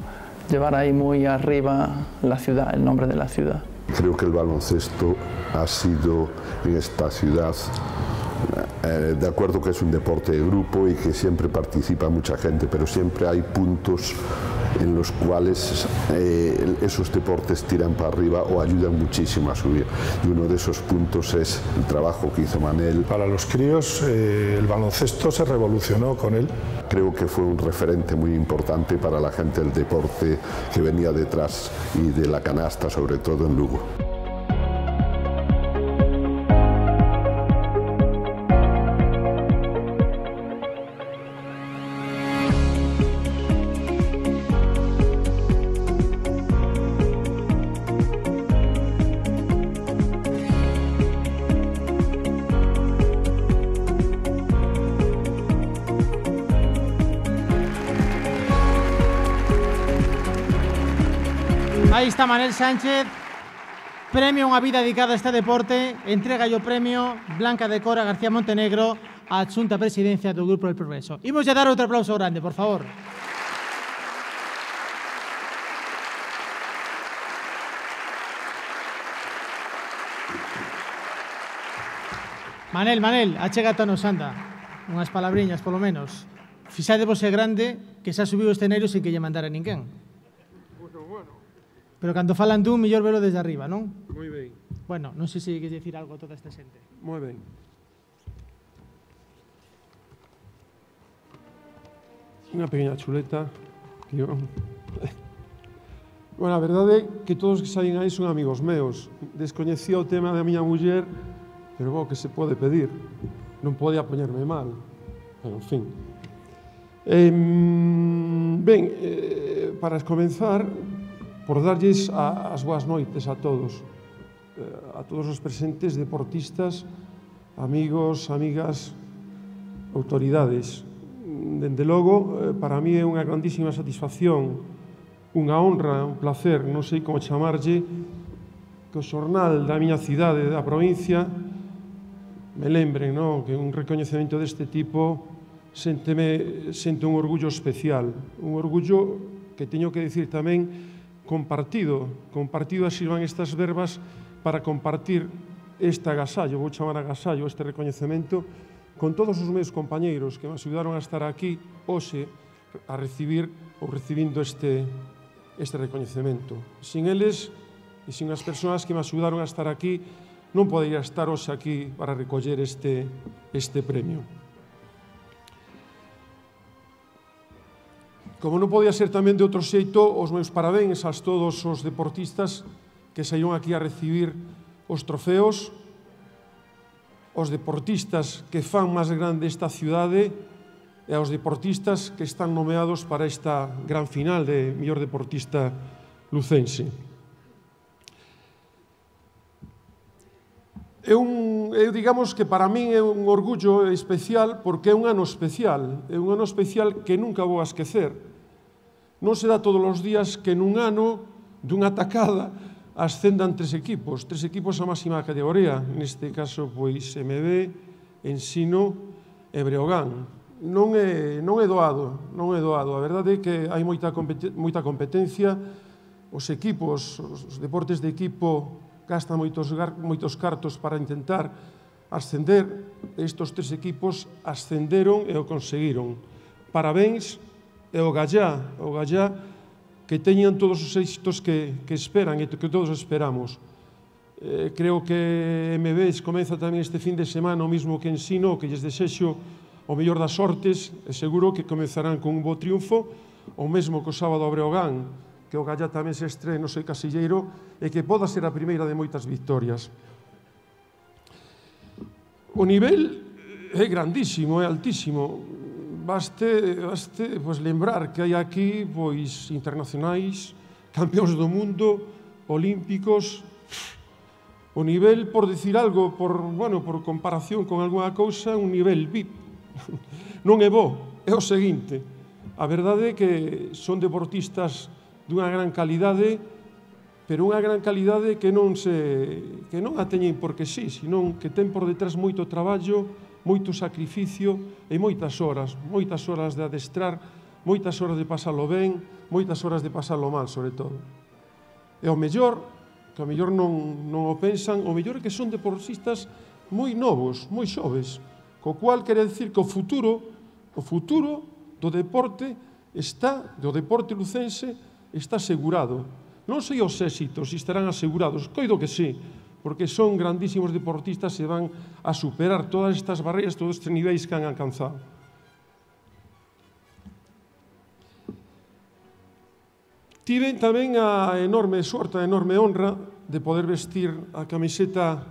llevar ahí muy arriba la ciudad, el nombre de la ciudad. Creo que el baloncesto ha sido en esta ciudad, de acuerdo que es un deporte de grupo y que siempre participa mucha gente, pero siempre hay puntos en los cuales esos deportes tiran para arriba o ayudan muchísimo a subir. Y uno de esos puntos es el trabajo que hizo Manel. Para los críos el baloncesto se revolucionó con él. Creo que fue un referente muy importante para la gente del deporte que venía detrás y de la canasta, sobre todo en Lugo. Aí está Manel Sánchez, premio Unha vida dedicada a este deporte, entrega o premio Blanca de Cora García Montenegro á adxunta presidencia do Grupo del Progreso. Imos a dar outro aplauso grande, por favor. Manel, achégatanos, anda, unhas palabriñas, polo menos. Fixádevos é grande que xa subiu o escenario sin que lle mandara ninguén. Pero cando falan dun, mellor velo desde arriba, non? Moi ben. Bueno, non sei se queres dicir algo a toda esta xente. Moi ben. Unha pequena chuleta. Tío. Bueno, a verdade é que todos que saen aí son amigos meus. Descoñecía o tema da miña muller, pero bo, que se pode pedir. Non podía poñerme mal. Pero, en fin. Ben, para comenzar, por darlles as boas noites a todos os presentes, deportistas, amigos, amigas, autoridades. Dende logo, para mí é unha grandísima satisfacción, unha honra, un placer, non sei como chamarlle, que o xornal da miña cidade, da provincia, me lembren, non? Que un recoñecemento deste tipo sento un orgullo especial, un orgullo que teño que dicir tamén compartido así van estas verbas para compartir este agasallo, vou chamar agasallo, este recoñecemento, con todos os meus compañeiros que me axudaron a estar aquí hoxe a recibir ou recibindo este recoñecemento. Sin eles e sin as persoas que me axudaron a estar aquí, non podería estar hoxe aquí para recoller este premio. Como non podía ser tamén de outro xeito, os meus parabéns a todos os deportistas que saíron aquí a recibir os trofeos, os deportistas que fan máis grande esta cidade e aos deportistas que están nomeados para esta gran final de mellor deportista lucense. Digamos que para min é un orgullo especial porque é un ano especial que nunca vou a esquecer. Non se dá todos os días que nun ano dunha atacada ascendan tres equipos a máxima categoría, neste caso pois MB, Ensino e Breogán. Non é doado, a verdade é que hai moita competencia, os equipos, os deportes de equipo gastan moitos cartos para intentar ascender, estos tres equipos ascenderon e o conseguiron. Parabéns e o Gallá que teñan todos os éxitos que esperan e que todos esperamos. Creo que MB comeza tamén este fin de semana o mismo que Ensino, que lles desexo o mellor das sortes, e seguro que comezarán con un bo triunfo, o mesmo que o sábado a Breogán, que o Gallá tamén se estrene no seu casilleiro e que poda ser a primeira de moitas victorias. O nivel é grandísimo, é altísimo. baste pois, lembrar que hai aquí pois, internacionais, campeóns do mundo, olímpicos, o nivel, por decir algo, por comparación con algunha cousa, un nivel VIP. Non é bo, é o seguinte. A verdade é que son deportistas dunha gran calidade, pero unha gran calidade que non a teñen porque sí, senón que ten por detrás moito traballo, moito sacrificio e moitas horas de adestrar, moitas horas de pasalo ben, moitas horas de pasalo mal, sobre todo. E o mellor, que o mellor non o pensan, o mellor é que son deportistas moi novos, moi xoves, co cual quere dicir que o futuro do deporte lucense está asegurado. Non sei os éxitos, se estarán asegurados, coido que sí, porque son grandísimos deportistas e van a superar todas estas barreiras, todos estes niveis que han alcanzado. Tiven tamén a enorme sorte, a enorme honra de poder vestir a camiseta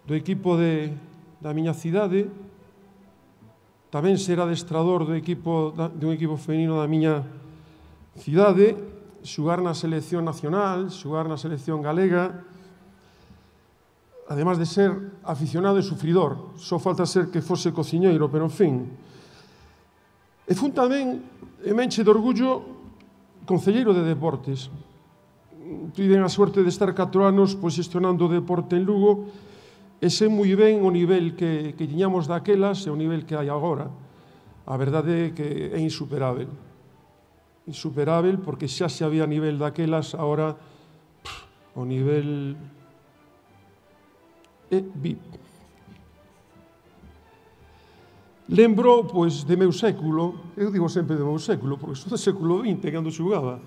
do equipo da miña cidade, tamén ser adestrador dun equipo femenino da miña cidade, xogar na selección nacional, xogar na selección galega, además de ser aficionado e sufridor, só falta ser que fose cociñeiro, pero en fin. E fun tamén, me enche de orgullo, concelleiro de deportes. Tiven a suerte de estar 4 anos xestionando o deporte en Lugo e sei moi ben o nivel que tiñamos daquelas e o nivel que hai agora. A verdade é que é insuperável. Insuperável porque xa se había nivel daquelas, agora o nivel é VIP. Lembro, pois, de meu século, eu digo sempre de meu século, porque sou do século XX, cando xugaba,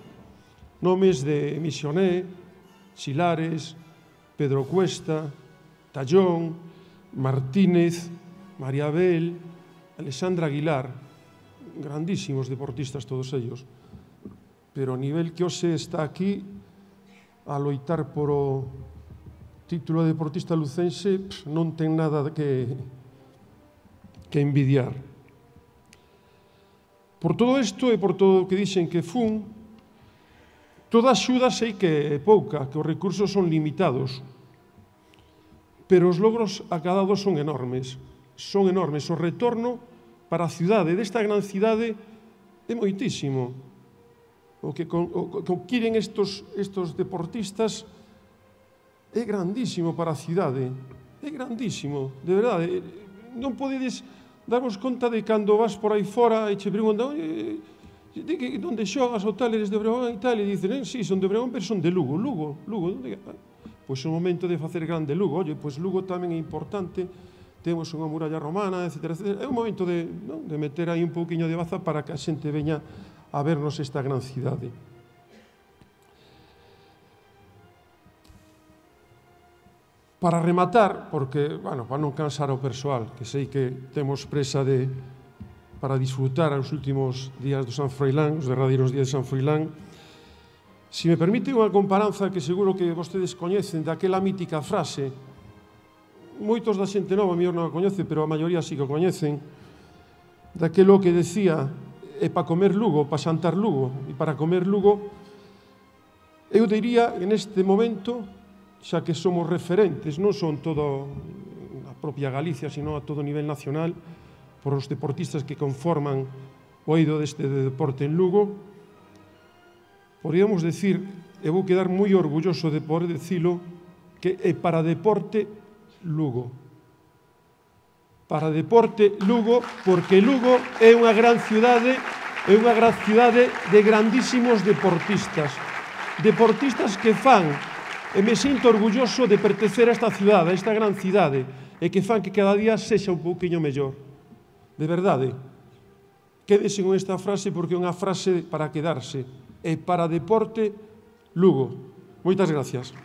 nomes de Misioné, Xilares, Pedro Cuesta, Tallón, Martínez, María Abel, Alexandra Aguilar, grandísimos deportistas todos ellos, pero o nivel que hoxe está aquí a loitar por o título de deportista lucense non ten nada que envidiar. Por todo isto e por todo o que dixen que fun, toda axuda sei que é pouca, que os recursos son limitados, pero os logros acadados son enormes. Son enormes. O retorno para a cidade, desta gran cidade, é moitísimo. O que quieren estos deportistas é grandísimo para a cidade, é grandísimo, de verdade. Non podedes darvos conta de cando vas por aí fora e che preguntan onde xogas o tal, eres de Obregón e tal, e dicen, sí, son de Obregón, pero son de Lugo. Lugo, onde? Pois é o momento de facer grande Lugo. Oye, pois Lugo tamén é importante, temos unha muralla romana, etc. É o momento de meter aí un pouquiño de baza para que a xente veña a vernos esta gran cidade. Para rematar, porque, para non cansar ao persoal, que sei que temos presa para disfrutar os últimos días do San Froilán, os derradeiros días de San Froilán, se me permite unha comparanza que seguro que vostedes coñecen, daquela mítica frase, moitos da xente nova, a mellor non a coñece, pero a maioría sí que o coñecen, daquelo que decía, é para comer Lugo, para xantar Lugo, e para comer Lugo, eu diría, en este momento, xa que somos referentes, non son todo a propia Galicia, sino a todo nivel nacional, por os deportistas que conforman o eido deste deporte en Lugo, podríamos decir, e vou quedar moi orgulloso de poder dicilo, que é para deporte Lugo. Para deporte Lugo, porque Lugo é unha gran cidade, de grandísimos deportistas. Deportistas que fan, e me sinto orgulloso de pertencer a esta cidade, a esta gran cidade, e que fan que cada día sexa un pouquiño mellor. De verdade. Quédese con esta frase porque é unha frase para quedarse. E para deporte Lugo. Moitas gracias.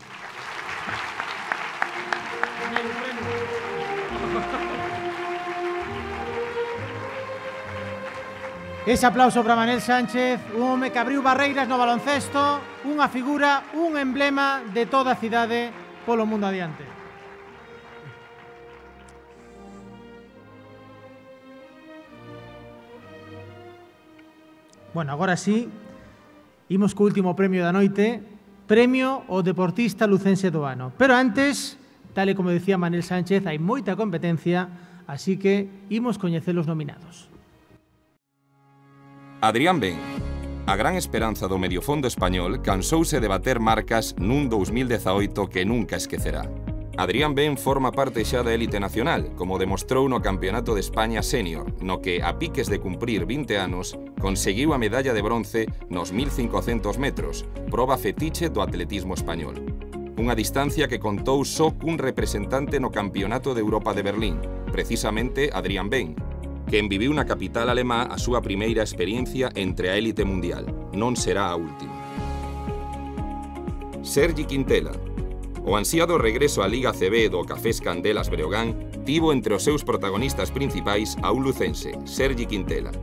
Ese aplauso para Manel Sánchez, un home que abriu barreiras no baloncesto, unha figura, un emblema de toda a cidade polo mundo adiante. Bueno, agora sí, imos co último premio da noite, premio ao deportista lucense do ano. Pero antes, tal e como decía Manel Sánchez, hai moita competencia, así que imos coñecer os nominados. Adrián Ben, a gran esperanza do mediofondo español, cansouse de bater marcas nun 2018 que nunca esquecerá. Adrián Ben forma parte xa da élite nacional, como demostrou no Campeonato de España Senior, no que, a piques de cumprir 20 anos, conseguiu a medalla de bronce nos 1500 metros, proba fetiche do atletismo español. Unha distancia que contou só cun representante no Campeonato de Europa de Berlín, precisamente Adrián Ben, quen viviu na capital alemá a súa primeira experiencia entre a élite mundial. Non será a última. Sergi Quintela. O ansiado regreso á Liga CB do Cafés Candelas Breogán tivo entre os seus protagonistas principais a un lucense, Sergi Quintela.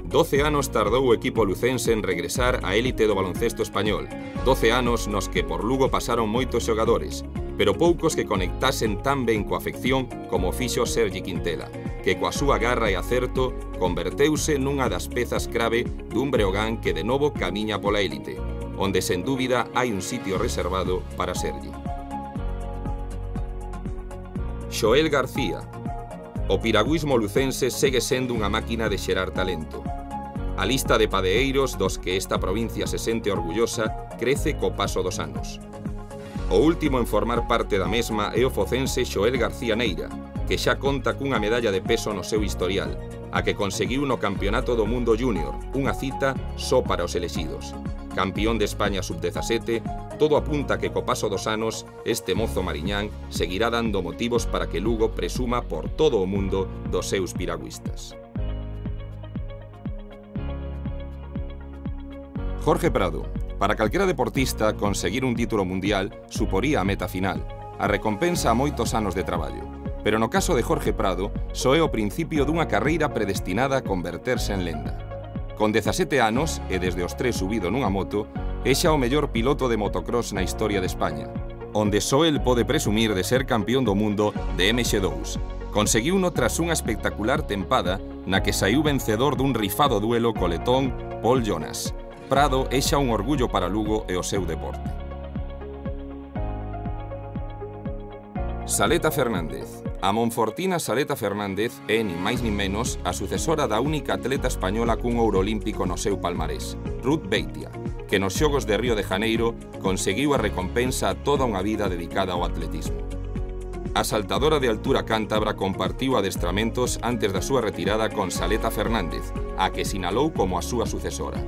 12 anos tardou o equipo lucense en regresar á élite do baloncesto español. 12 anos nos que por Lugo pasaron moitos xogadores, pero poucos que conectasen tan ben coa afección como fixo Sergi Quintela, que coa súa garra e acerto converteuse nunha das pezas clave dun Breogán que de novo camiña pola élite, onde sen dúbida hai un sitio reservado para Sergi. Xoel García. O piragüismo lucense segue sendo unha máquina de xerar talento. A lista de padeeiros dos que esta provincia se sente orgullosa crece co paso dos anos. O último en formar parte da mesma é o focense Xoel García Neira, que xa conta cunha medalla de peso no seu historial, a que conseguiu no Campeonato do Mundo Júnior, unha cita só para os elexidos. Campeón de España sub-17, todo apunta que co paso dos anos este mozo mariñán seguirá dando motivos para que Lugo presuma por todo o mundo dos seus piragüistas. Jorge Prado. Para calquera deportista, conseguir un título mundial suporía a meta final, a recompensa a moitos anos de traballo. Pero no caso de Jorge Prado, só é o principio dunha carreira predestinada a converterse en lenda. Con 17 anos, e desde os 3 subido nunha moto, é xa o mellor piloto de motocross na historia de España, onde só el pode presumir de ser campeón do mundo de MX2. Conseguiuno tras unha espectacular tempada na que saiu vencedor dun rifado duelo co letón Paul Jonas. Prado é xa un orgullo para Lugo e o seu deporte. Saleta Fernández. A monfortina Saleta Fernández é, nin máis nin menos, a sucesora da única atleta española cun ouro olímpico no seu palmarés, Ruth Beitia, que nos Xogos de Río de Janeiro conseguiu a recompensa a toda unha vida dedicada ao atletismo. A saltadora de altura cántabra compartiu adestramentos antes da súa retirada con Saleta Fernández, a que sinalou como a súa sucesora.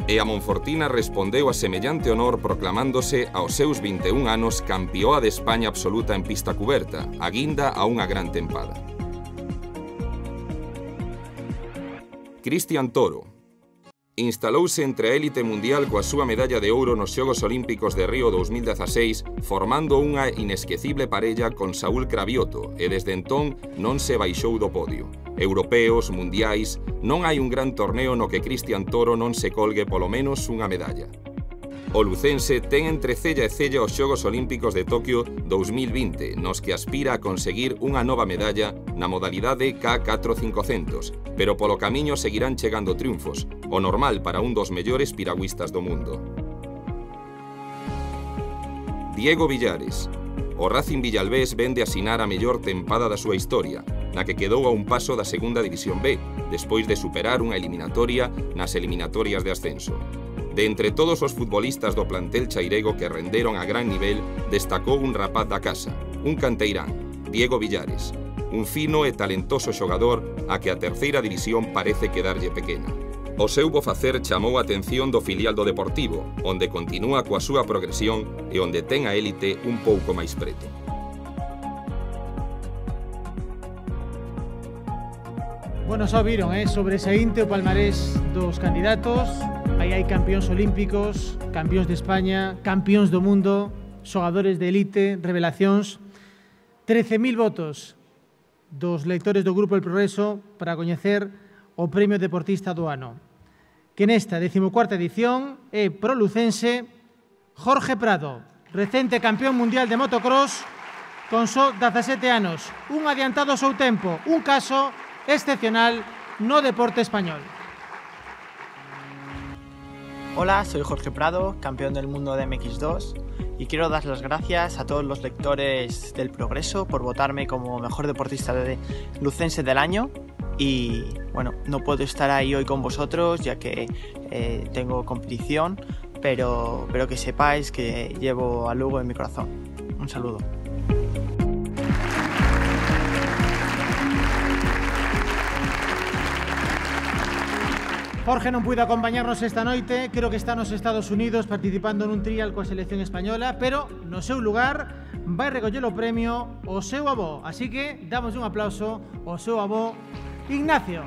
E a monfortina respondeu a semellante honor proclamándose aos seus 21 anos campioa de España absoluta en pista cuberta, a guinda a unha gran tempada. Cristian Toro. Instalouse entre a élite mundial coa súa medalla de ouro nos Xogos Olímpicos de Río 2016, formando unha inesquecible parella con Saúl Cravioto, e desde entón non se baixou do podio. Europeos, mundiais, non hai un gran torneo no que Cristian Toro non se colgue polo menos unha medalla. O lucense ten entre cella e cella os Xogos Olímpicos de Tokio 2020, nos que aspira a conseguir unha nova medalla na modalidade K4500, pero polo camiño seguirán chegando triunfos, o normal para un dos mellores piragüistas do mundo. Diego Villares. O Racing Villalbés vende asinar a mellor tempada da súa historia, na que quedou a un paso da Segunda División B, despois de superar unha eliminatoria nas eliminatorias de ascenso. De entre todos os futbolistas do plantel chairego que renderon a gran nivel, destacou un rapaz da casa, un canteirán, Diego Villares, un fino e talentoso xogador a que a Terceira División parece quedarlle pequena. O seu bo facer chamou a atención do filial do Deportivo, onde continúa coa súa progresión e onde ten a élite un pouco máis preto. Bueno, xa viron, sobresaínte o palmarés dos candidatos. Aí hai campións olímpicos, campións de España, campións do mundo, xogadores de élite, revelacións. 13.000 votos dos lectores do Grupo El Progreso para coñecer o Premio Deportista do Ano, que nesta 14ª edición é pro lucense Jorge Prado, recente campeón mundial de motocross con só 17 anos, un adiantado ao seu tempo, un caso excepcional no deporte español. Hola, soy Jorge Prado, campeón del mundo de MX2, y quiero dar las gracias a todos los lectores del Progreso por votarme como mejor deportista lucense del año. Y bueno, no puedo estar ahí hoy con vosotros ya que tengo competición, pero que sepáis que llevo a Lugo en mi corazón. Un saludo. Jorge non puido acompañarnos esta noite, creo que está nos Estados Unidos participando nun trial coa selección española, pero no seu lugar vai recoller o premio o seu avó. Así que damos un aplauso ao seu avó, Ignacio.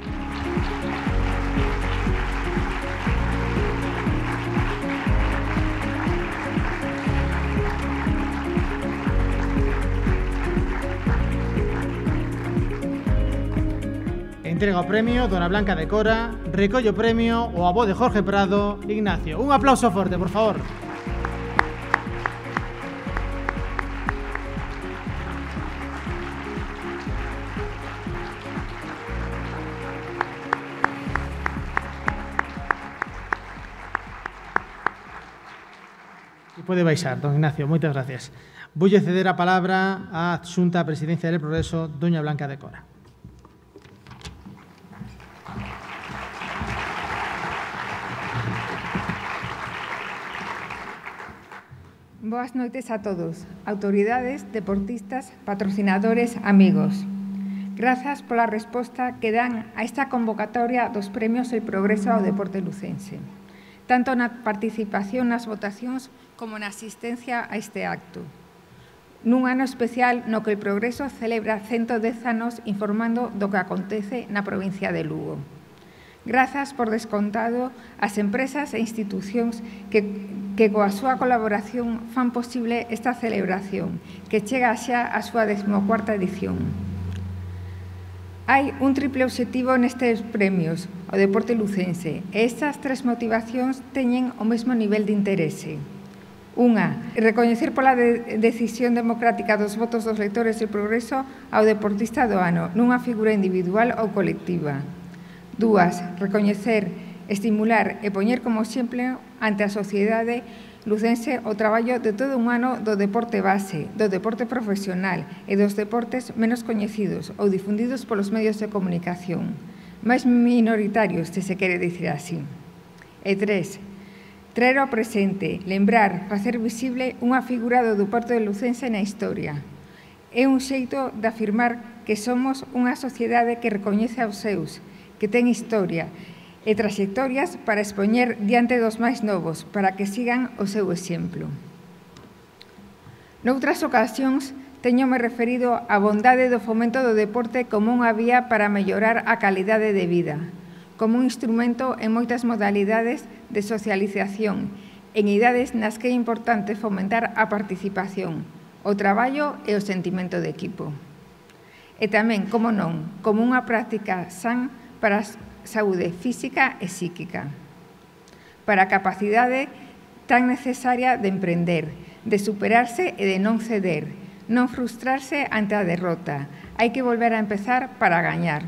Entrega o premio, Dona Blanca de Cora, recolle o premio o avó de Jorge Prado, Ignacio. Un aplauso forte, por favor. E pode baixar, don Ignacio, moitas gracias. Voulle ceder a palabra á adxunta á Presidencia del Progreso, Doña Blanca de Cora. Boas noites a todos, autoridades, deportistas, patrocinadores, amigos. Grazas pola resposta que dan a esta convocatoria dos premios El Progreso ao Deporte Lucense, tanto na participación nas votacións como na asistencia a este acto. Nun ano especial no que El Progreso celebra 110 anos informando do que acontece na provincia de Lugo. Grazas por descontado ás empresas e institucións que coa súa colaboración fan posible esta celebración, que chega xa a súa 14ª edición. Hai un triple obxectivo nestes premios, o deporte lucense, e estas tres motivacións teñen o mesmo nivel de interese. Unha, recoñecer pola decisión democrática dos votos dos lectores del Progreso ao deportista do ano, nunha figura individual ou colectiva. Dúas, recoñecer, estimular e poñer como exemplo ante a sociedade lucense o traballo de todo un ano do deporte base, do deporte profesional e dos deportes menos coñecidos ou difundidos polos medios de comunicación, máis minoritarios, se se quere dicir así. E tres, traer ao presente, lembrar, facer visible unha figura do deporte lucense na historia. É un xeito de afirmar que somos unha sociedade que recoñece aos seus, que ten historia e traxectorias para expoñer diante dos máis novos, para que sigan o seu exemplo. Noutras ocasións, teñome referido á bondade do fomento do deporte como unha vía para mellorar a calidade de vida, como un instrumento en moitas modalidades de socialización, en idades nas que é importante fomentar a participación, o traballo e o sentimento de equipo. E tamén, como non, como unha práctica san para a saúde física e psíquica, para a capacidade tan necesaria de emprender, de superarse e de non ceder, non frustrarse ante a derrota. Hai que volver a empezar para gañar.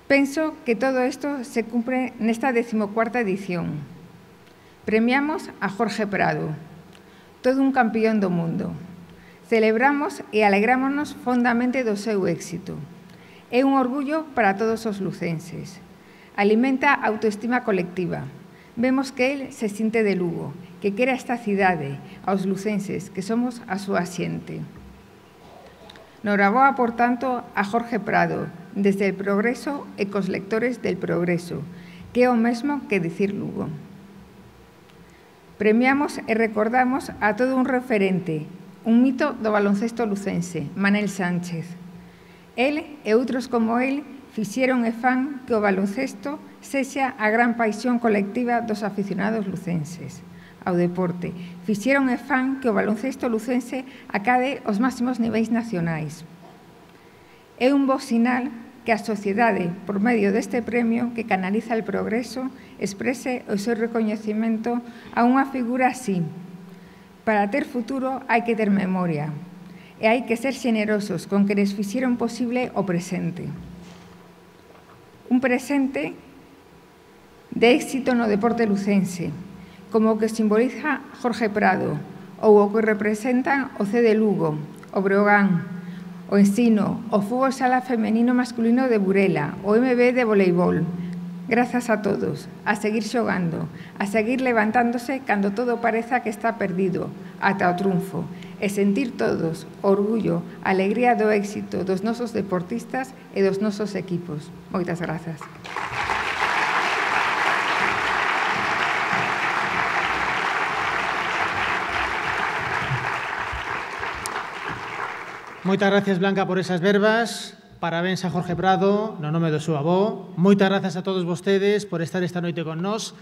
Penso que todo isto se cumpre nesta 14ª edición. Premiamos a Jorge Prado, todo un campeón do mundo. Celebramos e alegrámonos fondamente do seu éxito. É un orgullo para todos os lucenses. Alimenta a autoestima colectiva. Vemos que el se sinte de Lugo, que quere esta cidade, aos lucenses, que somos a súa xente. Noraboa, por tanto, a Jorge Prado, desde El Progreso e cos lectores del Progreso, que é o mesmo que dicir Lugo. Premiamos e recordamos a todo un referente, un mito do baloncesto lucense, Manel Sánchez. El e outros como el fixeron e fan que o baloncesto sexa a gran paixón colectiva dos aficionados lucenses ao deporte. Fixeron e fan que o baloncesto lucense acade os máximos niveis nacionais. É un bo sinal que a sociedade, por medio deste premio que canaliza El Progreso, exprese o seu recoñecemento a unha figura así. Para ter futuro hai que ter memoria. E hai que ser xenerosos con que les fixeron posible o presente. Un presente de éxito no deporte lucense, como o que simboliza Jorge Prado ou o que representan o C de Lugo, o Breogán, o Ensino, o fútbol sala femenino masculino de Burela, o MB de voleibol. Grazas a todos, a seguir xogando, a seguir levantándose cando todo pareza que está perdido, ata o triunfo, e sentir todos o orgullo, a alegría do éxito dos nosos deportistas e dos nosos equipos. Moitas grazas. Moitas gracias, Blanca, por esas verbas. Parabéns a Jorge Prado, no nome do seu avó. Moitas grazas a todos vostedes por estar esta noite con nós.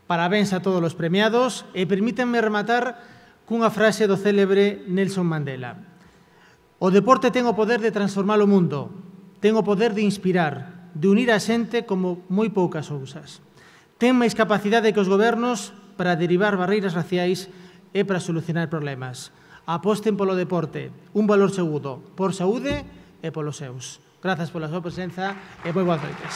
Parabéns a todos os premiados. E permítanme rematar cunha frase do célebre Nelson Mandela. O deporte ten o poder de transformar o mundo, ten o poder de inspirar, de unir a xente como moi poucas cousas. Ten máis capacidade que os gobernos para derivar barreiras raciais e para solucionar problemas. Aposten polo deporte, un valor seguro, por saúde e polos seus. Grazas pola súa presenza e moi boas noites.